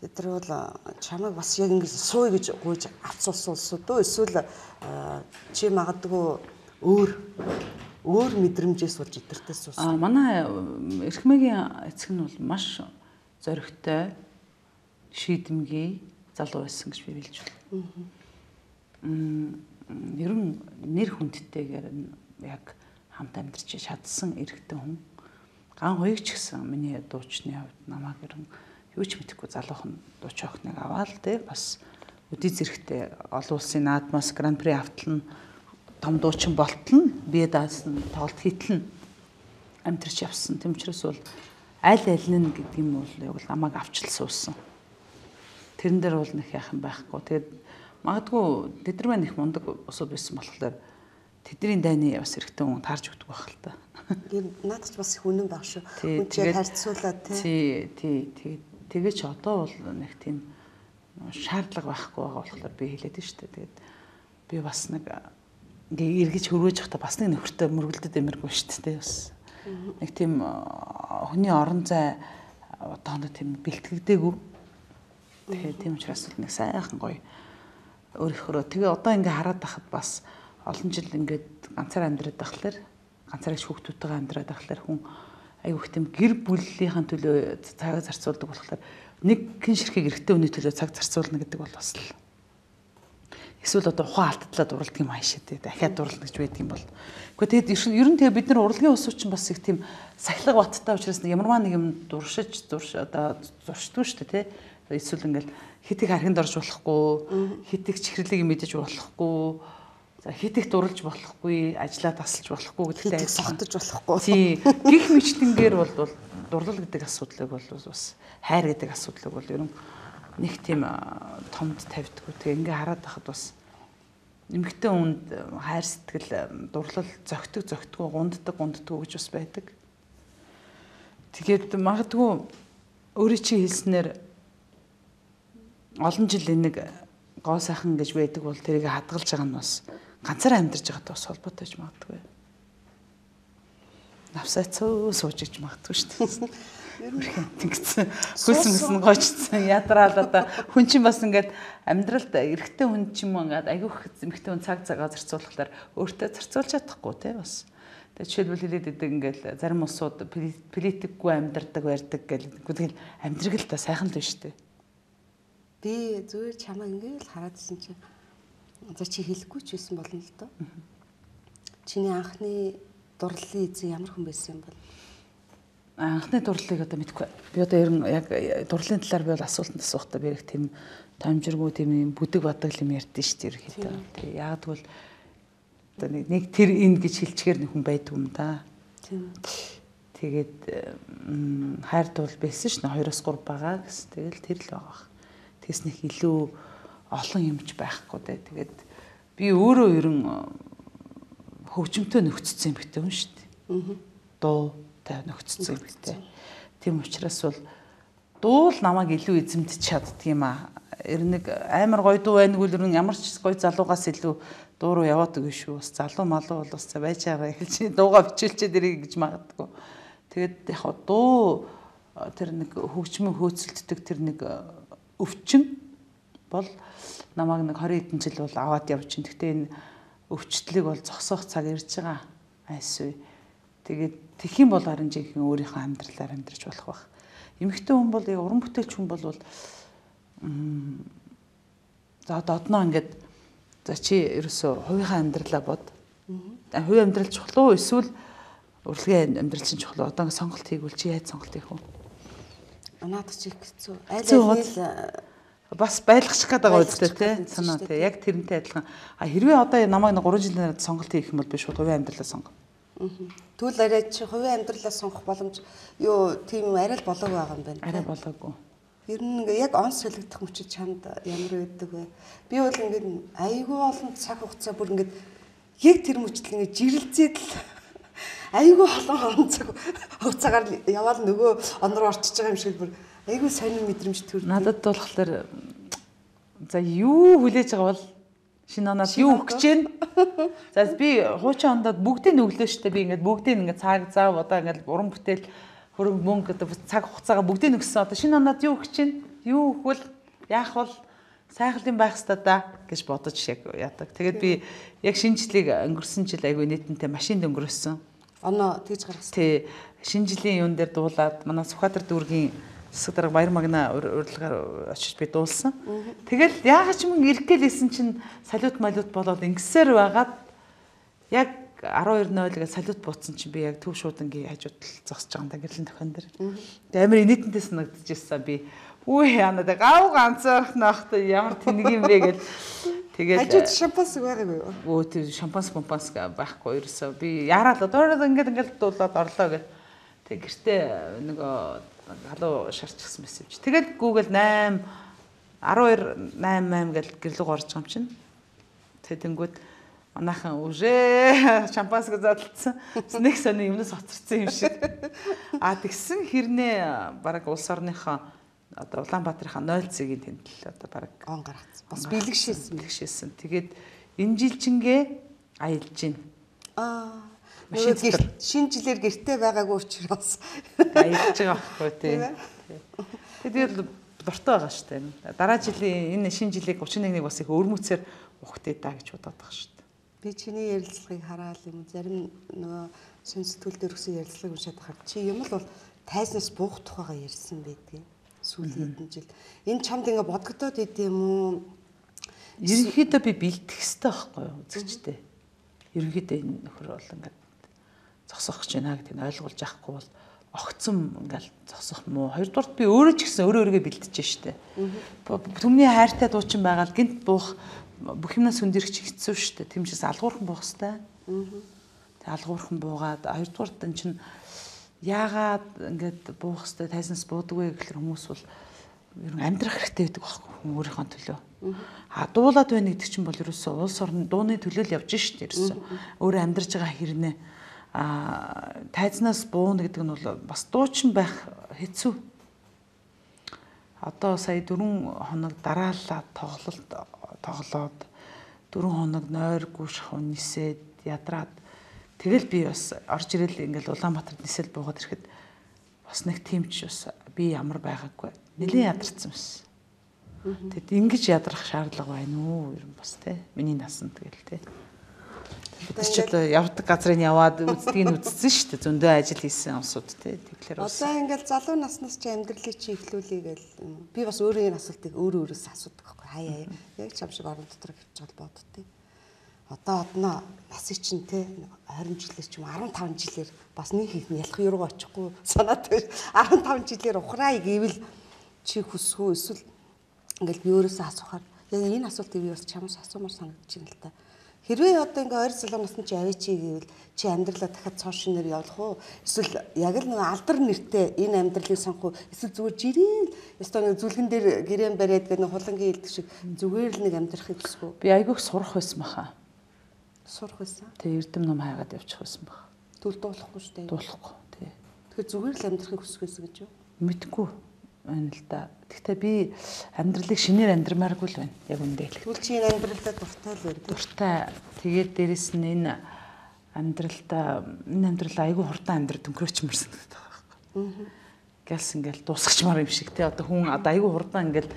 тэр бол чамайг бас яг ингэ сууй гэж гуйж авцуулсан улсууд уу эсвэл чи магадгүй өөр өөр мэдрэмжээс болж итэртээс ус. А манай Эрхмэгийн эцэг нь бол маш зоригтой шийдэмгий залуу байсан гэж би хэлж байна. Мм ер нь нэр хүндтэйгээр яг хамт амьдарч чадсан эрэгтэй хүн. Ган хуйгч гэсэн миний дуучны хувьд намайг ер нь юу ч мэдэхгүй залуухан дууч охиныг аваад те бас өдий зэрэгтэй олон улсын наадмаас гран при автална том дуучин болтол нь бие даасан тоглолт хийтэл нь амтэрч явсан. Тэм учраас бол аль аль нь гэдэг юм бол яг л намайг авчлсан уусан. Тэрэн дээр бол нэг яах юм байхгүй. Тэгээд магадгүй тэд нар маань их мундаг усуд байсан болохоор тэдний дайны бас эрэгтэй хүн таарч өгдөг байх л та. Наад ч бас их үнэн баг шүү. Үнтэй харьцуулаад тий. Тий, тий. Тэгэж одоо бол нэг тийм шаардлага байхгүй байгаа болохоор би хэлээд нь шүү дээ. Тэгээд би бас нэг ингээ эргэж хөрвөөж явахдаа бас нэг нөхөртэй мөргөлдөд эмэргүй шүү дээ бас. Нэг тийм хүний орон зай одооно тийм бэлтгэгдээгүй. Тэгээд тийм учраас нэг сайхан гоё өөрөөр тэгээ одоо ингээ хараад байхад бас олон жил ингээд ганцаар амьдраад байхлаар ганцаар их хүүхдүүдтэйгээ амьдраад байхлаар хүн айгүйх тийм гэр бүлийнхаа төлөө цаг зарцуулдаг болохоор нэг хэн ширхэг эрэгтэй хүний төлөө цаг зарцуулна гэдэг бол бас л эсвэл одоо ухаан алдатлаа дуралдаг юм аашаа тий дахиад дурлна гэж байдаг юм бол. Гэхдээ тэгээд ер нь тэгээ бид нар урлагийн ус чинь бас их тийм сахилга баттай учраас ямарваа нэг юм дуршиж дурш одоо зуршдгүй шүү дээ тий. Эсвэл ингээл хитэг хархинд орж болохгүй, хитэг чихэрлийг мэдэж болохгүй, за хитэг дурлж болохгүй, ажиллаа тасалж болохгүй гэдэгтэй согтож болохгүй. Тий. Гих мэтлэнгээр бол дурлал гэдэг асуудлыг бол бас хайр гэдэг асуудлыг бол ер нь нэг тийм томд тавьдаггүй. Тэгээ ингээ хараад байхад бас эмэгтэй хүнд хайр сэтгэл дурлал зөгтөг зөгтгөө гунддаг гунддаг гэж бас байдаг. Тэгээд магадгүй өөрийн чи хэлснээр олон жил нэг гоо сайхан гэж байдаг бол тэрийг хадгалж байгаа нь бас ганцаараа амьдарч байгаатай бас холбоотой ч магадгүй. Навсаа цөө сууж иж магадгүй шүү дээ. Ер нь тэгсэн хөлсөн мэсэн гоочсон ядраал одоо хүн чинь бас ингээд амьдралд эрэгтэй хүн ч юм уу ингээд айгүйх эмэгтэй хүн цаг цагаа зарцуулахлаар өөртөө зарцуулж чадахгүй тий бас. Тэгээ жишээлбэл хэлээд идэг ингээд зарим улсууд политикгүй амьдардаг байрдаг гэл тэгэл амьдрал л та сайхан л биш үү. Би зүгээр чамаа ингээд л хараадсэн чинь за чи хэлэхгүй ч байсан болно л доо. Чиний анхны дурлалын эзэн ямар хүн байсан юм бол? Анхны дурлалыг одоо мэдгүй. Би одоо ер нь яг дурлалын талаар би бол асуултанд асуухтаа би их тийм томжиргүй тийм юм бүдэг бадаг юм ярьдэн шүү дээ ерөөхдөө. Тэгээ яг тэгвэл одоо нэг тэр энэ гэж хэлчихээр нэг хүн байдаг юм да. Тийм. Тэгээд хайр дуул байсан ш нь хоёроос гурав байгаа гэсэн. Тэгэл тэр л байгаа. Тэгс нэг илүү олон юмч байхгүй дээ. Тэгээд би өөрөө ер нь хөгжимтэй нөхцсөн юм битэн хүн шүү дээ. Аа. Дуу тай нөхцсөн юм битэн. Тийм учраас бол дуу л намайг илүү эзэмдэж чаддаг юм аа. Ер нэг амар гоё дуу байнг үл ер нь ямар ч гоё залуугаас илүү дуу руу яваад өгнө шүү. Бас залуу малуу бол бас байж байгаа хэлж дууга бичүүлчихэд ирэх гэж магадгүй. Тэгээд яг дуу тэр нэг хөгжмөн хөөцөлддөг тэр нэг өвчин бол намайг нэг двадцать хэдэн жил бол аваад явж чинь. Гэхдээ энэ өвчлөлийг бол зогсоох цаг ирж байгаа айсгүй. Тэгээд тэгэх юм бол харин жинхэнэ өөрийнхөө амьдралаар амьдарч болох байх. Эмэгтэй хүн бол яг уран бүтээлч хүн бол за одноо ингээд за чи ерөөсөө хувийнхаа амьдралаа бод. Хувийн амьдрал чухал уу эсвэл урлагийн амьдрал чинь чухал уу? Одоо ингээд сонголт хийгүүл чи яаж сонголт хийх вэ? Анаад чи хэцүү. Айл айл бас байлгачих гээд байгаа үстэй тий санаа тий яг тэрнтэй адилхан. А хэрвээ одоо намайг гурван жилийн дараа сонголт хийх юм бол би шууд хувийн амьдралаа сонгоно. Тэгвэл арай чи хувийн амьдралаа сонгох боломж юу тийм арай л болоог байгаа юм байна. Арай болоогүй. Ер нь яг онц солигдох мөчид чамд ямар байдаг вэ? Би бол ингээд айгүй олон цаг хугацаа бүр ингээд яг тэр мөчтөл ингээд жирэлзээд л айгүй олон цаг хугацаагаар яваал нөгөө он руу орчиж байгаа юм шиг бүр айгүй сонир мэдрэмж төрдөг. Надад болохоор за юу хүлээж байгаа бол шинэ оноод юу өгч जैन. За би хуучин ондод бүгдийг өглөө штэ би ингээд бүгдийг ингээд цаг зав одоо ингээд уран бүтээл хөрөнгө мөнгө одоо цаг хугацаагаа бүгдийг өгсөн. Одоо шинэ оноод юу өгч чинь? Юу өгвөл яах бол сайхлын байх хэвээр да гэж бодож яг яадаг. Тэгээд би яг шинэ жилийг өнгөрсөн жил айгүй нийтэнтэй машинд өнгөрөөсөн. Оноо тэгж гаргасан. Тий. Шинэ жилийн юун дээр дуулаад манай Сүхбаатар дүүргийн засаг дарга Баяр Магна урилгаар очиж би дуулсан. Тэгэл яагаад ч юм ирэх гэлээсэн чинь салют малют болоод ингэсээр байгаад яг арван хоёр нойл гэж салют бууцсан чинь би яг төв шуудангийн хажууд тал зогсож байгаа юм да гэрлийн тохион дээр. Тэгээ амар нийтэнтэй санагдчихсан би. Үгүй яана да гав ганцаарх нахта ямар тэнэг юм бэ гэл. Тэгээд хажууд шампанс байгаагүй юу? Өө тэр шампанс помпанс байхгүй ерөөсөө би яарал одоо ингээд ингээд дуулаад орлоо гэл. Тэг гэртээ нөгөө халуу шарчихсан байсан юм чи. Тэгээд Google найман арван хоёр найман гэл гэрлэг орж байгаа юм чинь. Тэдэнгүүд манайхан үжээ шампанс гэж задлцсан. Нэг сони юмнаас хоцорсон юм шиг. А тэгсэн хэрнээ бараг улс орныхоо одоо Улаанбаатарын нойл цэгийн тэмдэл одоо бараг он гаргацсан. Бас бэлгшээсэн бэлгшээсэн. Тэгээд энэ жилчингээ аялж гин. Аа шинэ жилээр гэртээ байгаагүй учраас аялж байгаа байхгүй тий. Тэгээд дуртай байгаа шүү дээ. Дараа жилийн энэ шинэ жилийг гучин нэгнийг бас их өрмөцөөр ухтээ даа гэж бодоод байгаа шүү дээ. Би чиний ярилцлагыг хараад юм зарим нөгөө шинэ сэтгүүл дээр өгсөн ярилцлагыг уншаад хахад чи юм л бол тайзнаас буух тухайгаа ярьсан байдгийг сүүлийн хэдэн жил. Энэ чамд ингээ бодогдоод идэм үү? Ерөнхийдөө би бэлтгэх хэрэгтэй байхгүй юу үзэгчтэй. Ерөнхийдөө энэ нөхөр бол ингээ зогсох гэж байна гэдэг нь ойлгуулж авахгүй бол огцом ингээл зогсох муу. Хоёрдугаарт би өөрөө ч гэсэн өөрөө өөрийгөө бэлдэж штэ. Түмний хайртай дуучин байгаа л гинт буух бүх юмнаас хүндэрч хэцүү штэ. Тэмчээс алгуурхан буух хэвээр. Тэг алгуурхан буугаад хоёрдугаарт энэ чинь яагаад ингээд буух хэвээр тайзнаас буудаггүй гэхэлэр хүмүүс бол ер нь амьдрах хэрэгтэй байдаг байхгүй хүн өөрийнхөө төлөө. А дуулаад байна гэдэг чинь бол ерөөсөө улс орны дууны төлөө л явж штэ ерөөсөө. Өөрөө амьдарч байгаа хэрнээ а тайзнаас бууна гэдэг нь бол бас дуучин байх хэцүү. Одоо сая дөрвөн хоног дараалал тоглолт тоглоод дөрвөн хоног нойргүй шахуу нисээд ядраад тэгэл би бас орж ирэл ингээл Улаанбаатарт нисэл буугаад ирэхэд бас нэг тиймч бас би ямар байгаагүй нэлээд ядарсан байсан. Тэгэд ингэж ядрах шаардлага байна уу ер нь бас тий миний насанд тэгэл тий. Тэр ч одоо явдаг газрын яваад үздгийг нь үздсэн шүү дээ. Зөндөө ажил хийсэн усуд тий. Тэгэхээр бас одоо ингээл залуу наснаас чи амьдралыг чи эхлүүлээ гэл би бас өөрийн асуултыг өөрөө өөрөөс асуудаг байхгүй хаяа яг чам шиг орон дотор хөвч гал боддتي. Одоо одноо насыг чинь тий двадцать жилээр ч юм уу арван таван жилээр бас нэг их ялах юуруу очихгүй санаад байна. арван таван жилээр ухраа гэвэл чи хүсвүү эсвэл ингээл би өөрөөсөө асуухаар яг энэ асуултыг би бас чамаас асуумаар санагдаж байна л та. Хэрвээ одоо ингээ ойр салуу насны чи аваа чи гэвэл чи амьдралаа дахиад цоо шинээр явуулах уу? Эсвэл яг л нэг алдар нэртэй энэ амьдралыг сонгох уу? Эсвэл зүгээр жирийн ёстой нэг зүлгэн дээр гэрээн бариад гэдэг нэг хулангийн хэлдэг шиг зүгээр л нэг амьдрахыг хүсв үү? Би айгүйх сурах байсан баха. Сурах байсан. Тэгээ эрдэм ном хайгаад явчих байсан баха. Түл дуулахгүй шүү дээ. Дуулахгүй тий. Тэгэхээр зүгээр л амьдрахыг хүсэх байсан гэж юу? Мэдгүй байна л да. Гэхдээ би амьдралыг шинээр амьдрмааргүй л байна. Яг үндэ хэлэх. Түл чи энэ амьдралдаа дуртай л байна. Дуртай. Тэгээд дээрэс нь энэ амьдралдаа энэ амьдрал айгүй хурдан амьдрал өнгөрөөчмөр санагдаад байгаа байхгүй. Гэлс ингээл дуусгачмаар юм шиг тий. Одоо хүн одоо айгүй хурдан ингээл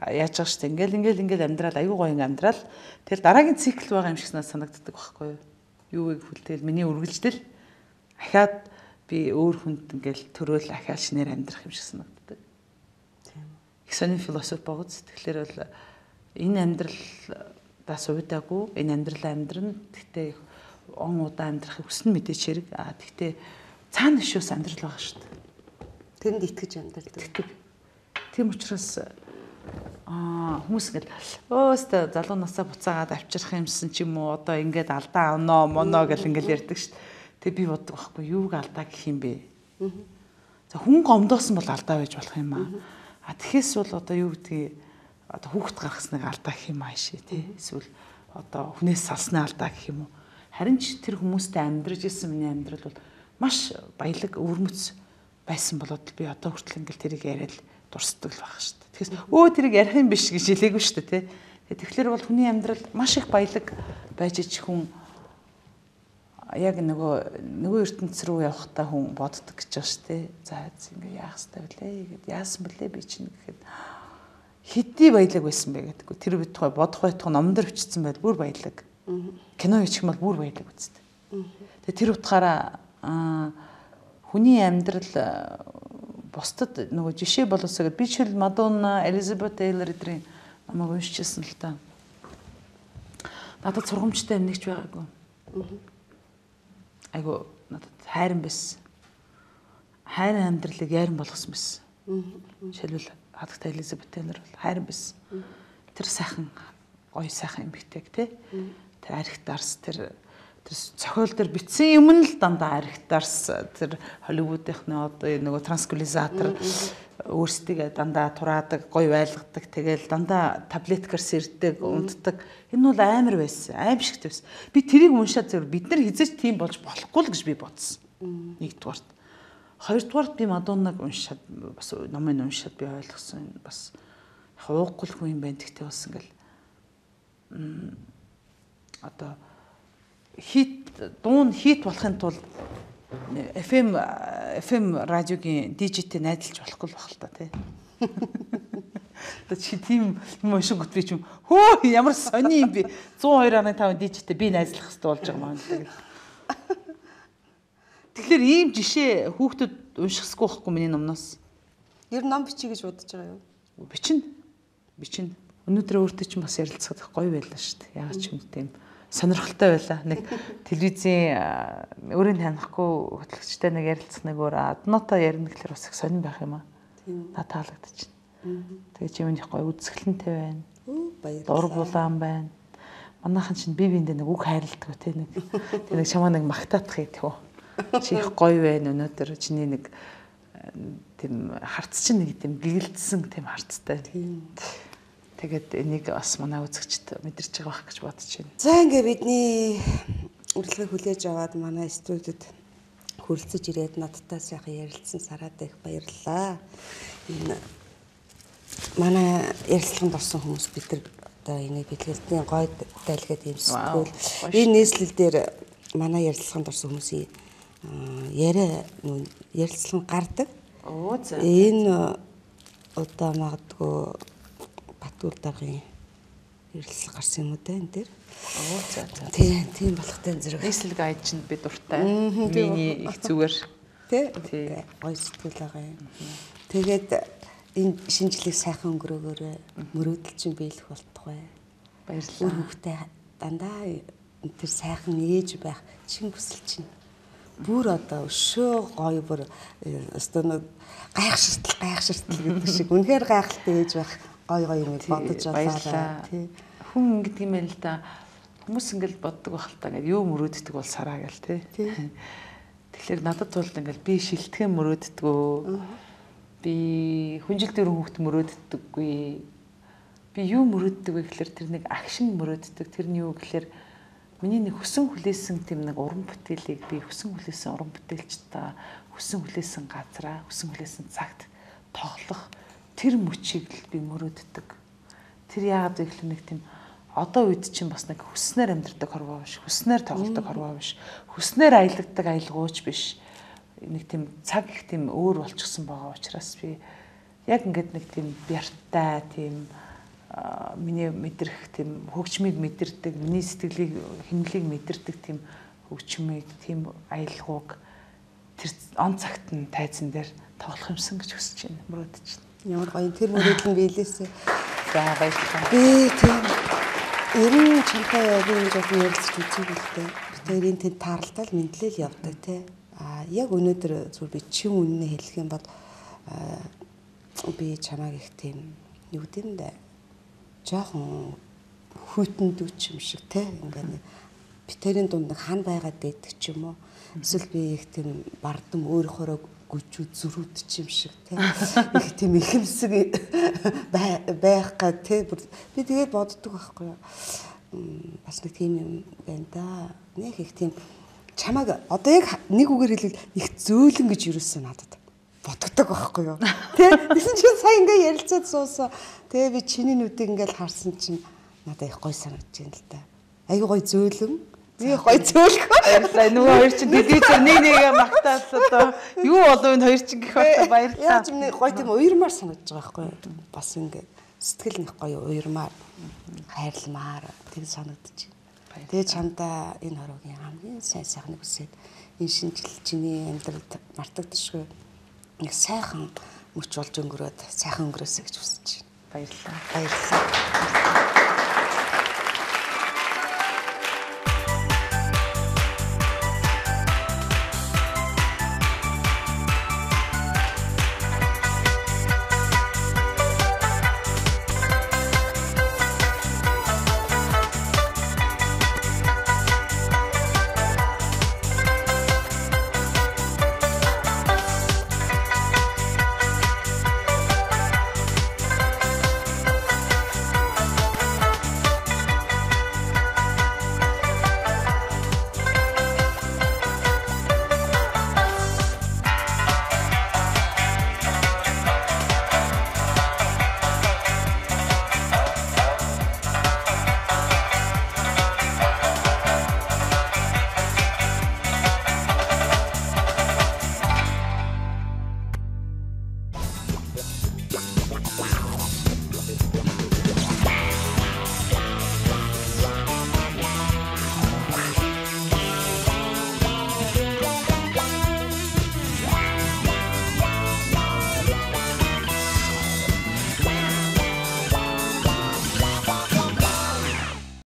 яаж байгаа шүү дээ. Ингээл ингээл ингээл амьдрал айгүй гоё ингээл амьдрал. Тэгэл дараагийн цикл байгаа юм шиг санагддаг байхгүй юу? Юу вэ гэвэл тэгэл миний үргэлжлэл ахаад би өөр хүнд ингээл төрөөл ахаад шинээр амьдрах юм шиг санагддаг. Их сонин философи богц. Тэгэхээр бол энэ амьдралдаа сувдаагүй, энэ амьдрал амьдрна. Гэхдээ он удаа амьдрахыг хүснэ мэдээч хэрэг. А тэгтээ цаана шүүс амьдрал байгаа шүү дээ. Тэрэнд итгэж амьдрдаг. Тийм учраас аа хүмүүс ингээл өөстө залуу насаа буцаагаад авчрах юмсан ч юм уу одоо ингээд алдаа оноо моно гэл ингээл ярьдаг шүү дээ. Тэг би боддог байхгүй юуг алдаа гэх юм бэ? За хүн гомдоосон бол алдаа байж болох юм аа. А тэгэхээс бол одоо юу гэдгийг одоо хүүхд гаргасныг алдаа гэх юм ааши тий. Эсвэл одоо хүнээс салсны алдаа гэх юм уу. Харин ч тэр хүмүүстэй амьдрж исэн миний амьдрал бол маш баялаг өвөрмөц байсан болоод би одоо хүртэл ингээл тэрийг яриад дурсдаг л байх шүү дээ. Тэгэхээс өө тэрийг ярих юм биш гэж хэлээгүй шүү дээ тий. Тэгэхээр бол хүний амьдрал маш их баялаг байж ич хүн яг нөгөө нөгөө ертөнц рүү явахдаа хүн боддог гэж байгаа шүү дээ. За ингээ яах ёстой вүлээ гэд яасан бэлээ би чинь гэхэд хэдий баялаг байсан бэ гэдэггүй. Тэр бид тухай бодох байтугай номдор бичсэн байл бүр баялаг. Кино хийчих юм бол бүр баялаг үсттэй. Тэгээ тэр утгаараа хүний амьдрал бусдад нөгөө жишээ болоосоо гэд би ч хэл Мадонна, Элизабет Тейлор эдрийн намайг уншижсэн л та. Надад сургамжтай амнигч байгаагүй. Айгу надад хайран байсан. Хайран амьдралыг яаран болгосон байсан. Жишээлбэл хадагтай Элизабет Тейлор бол хайран байсан. Тэр сайхан гоё сайхан эмэгтэйг тий. Тэр архитарс тэр тэр цохиол дээр бичсэн юм л дандаа архитарс тэр Холливуудынхны одоо нөгөө трансквилизатор өөрсдөө дандаа тураадаг, гоё байлгадаг, тэгэл дандаа таблеткаар сэрдэг, унтдаг. Энэ бол амар байсан, аимшигт байсан. Би тэрийг уншаад зөв бид нар хизээч тийм болж болохгүй л гэж би бодсон. Нэгдүгээрт. Хоёрдугаарт би Мадоннаг уншаад бас номыг уншаад би ойлгосон. Бас хуухгүй хүн юм байна гэхдээ бас ингээл одоо хит дуун хит болохын тулд эф эм эф эм радиогийн дижитэ найдалж болохгүй байх л та тий. Тэ чи тийм юм шиг гот би ч юм хөө ямар сони юм би зуун хоёр ам таван дижитэ би найзлах хэрэгтэй болж байгаа маань тэгэл. Тэгэхээр ийм жишээ хүүхдүүд уншихсгүй байхгүй миний номноос. Ер нь ном бичиж гэж бодож байгаа юу? Бичнэ. Бичнэ. Өнөөдөр өөртөө ч бас ярилцах гоё байлаа шүү дээ. Яагаад ч юм тийм сонирхолтой байлаа. Нэг телевизийн өөрийн танихгүй хөтлөгчтэй нэг ярилцах нэг өөр аднотоо ярина гэхэлэр бас их сонирн байх юм аа. Тийм. Та таалагдчихна. Тэгээ чи минийх гоё үзэсгэлэнтэй байна. Баярлалаа. Дур булаан байна. Манайхан чинь бие биендээ нэг үг хайрладаг те нэг. Тэгээ нэг чамаа нэг магтаадах идэх үү. Чи их гоё байна өнөөдөр чиний нэг тийм харц чинь нэг тийм гэгэлдсэн тийм харцтай. Тийм. Тэгээд энийг бас манай үзэгчд мэдэрч байгаа байх гэж бодож байна. За ингээ бидний урилгыг хүлээж аваад манай студид хүрэлцэж ирээд надтай сайхан ярилцсан Сараад их баярлалаа. Энэ манай ярилцлаганд орсон хүмүүс бид нар одоо энийг бэлгэлтийн гой дайлгаад юмсгүй. Энэ нийслэл дээр манай ярилцлаганд орсон хүмүүсийн яриа ярилцлага гардаг. Оо за. Энэ одоо магадгүй Батүр даргын ярилцлага гарсан юм уу те энэ дээр. Оо за за. Тийм, тийм болохтой зэрэг. Нийслэл гайд чинь би дуртай. Миний их зүгээр. Тэ. Гоё сэтгэл байгаа юм. Тэгээд энэ шинжлэх сайхан өнгөрөөгөөрөө мөрөөдөл чинь биелэх болтугай. Баярлалаа. Үр хөвгтэй дандаа тэр сайхан ээж байх чин хүсэл чинь бүр одоо өшөө гоё бүр өстөө гайхширтал гайхширтал гэдэг шиг үнэхээр гайхалтай ээж байх гой гой юм бодож байлаа тий. Хүн ингэдэг юм байл л да. Хүмүүс ингээл боддог байх л та ингээд юу мөрөөддөг бол сараа гэл тий. Тэгэхээр надад бол ингээл би шилтгэн мөрөөддгөө. Би хүнжил дөрөв хүүхд мөрөөддөггүй. Би юу мөрөөддөг вэ гэхээр тэр нэг агшин мөрөөддөг. Тэр нь юу гэхээр миний нэг хүсэн хүлээсэн тийм нэг уран бүтээлийг би хүсэн хүлээсэн уран бүтээлч та хүсэн хүлээсэн газараа хүсэн хүлээсэн цагт тоглох тэр мөчийг л би мөрөөддөг. Тэр яагаад вэ гэхээр нэг тийм одоо үед чинь бас нэг хүснээр амьдардаг хорвоо биш, хүснээр тоглодог хорвоо биш, хүснээр аялагддаг аялгууч биш. Нэг тийм цаг их тийм өөр болчихсон байгаа учраас би яг ингээд нэг тийм бярттай тийм миний мэдрэх тийм хөгжмийг мэдэрдэг, миний сэтгэлийг хэмнэлийг мэдэрдэг тийм хөгжмийг, тийм аялгауг тэр он цагт нь тайзан дээр тоглох юмсан гэж хүсэж байна, мөрөөдөж байна. Ямар гоё тэр мөрөөдөл нь биелээсэ. За баярлалаа. Би тийм ер нь чамтай би нэг жоохон ярилцж үзье гэлтэй. Би тэрийн тэнд таарлтал мэдлэл явдаг тий. А яг өнөөдөр зүгээр би чин үнэнээ хэлэх юм бол би чамайг их тийм юу гэмдэ жоохон хүйтэндэг юм шиг те ингээд би тэрийн дунд нэг хан байгаад байдаг ч юм уу эсвэл би их тийм бардам өөрөөхөө гүжүү зүрүүд ч юм шиг те их тийм ихэмсэг байх гад те би тэгээд боддог байхгүй юу бас нэг тийм юм байна да нэг их тийм чамайг одоо яг нэг үгээр хэлвэл их зөөлөн гэж юусэн надад бодогдог байхгүй юу тий тэгсэн чинь сая ингээ ярилцаад суусан тэгээ би чиний нүдийг ингээл харсан чинь надад их гоё санагдаж байна л да айгүй гоё зөөлөн Би гоё зөөлгөө. Баярлалаа. Нөгөө хоёр чинь телевизээр нэг нэгээ магтаал одоо юу болов энэ хоёр чинь гэх бата баярлалаа. Яаж юм гоё тийм уйрмаар санагдаж байгаа байхгүй юу? Бас ингэ сэтгэл нэг гоё уйрмаар хайрламаар тэг санагдчих. Тэгээ чамдаа энэ хороогийн хамгийн сайн сайхныг үсээд энэ шинжил чиний амьдралд мартагдашгүй нэг сайхан мөч болж өнгөрөөд сайхан өнгөрөөсэй гэж хүсэж байна. Баярлалаа. Баярлалаа.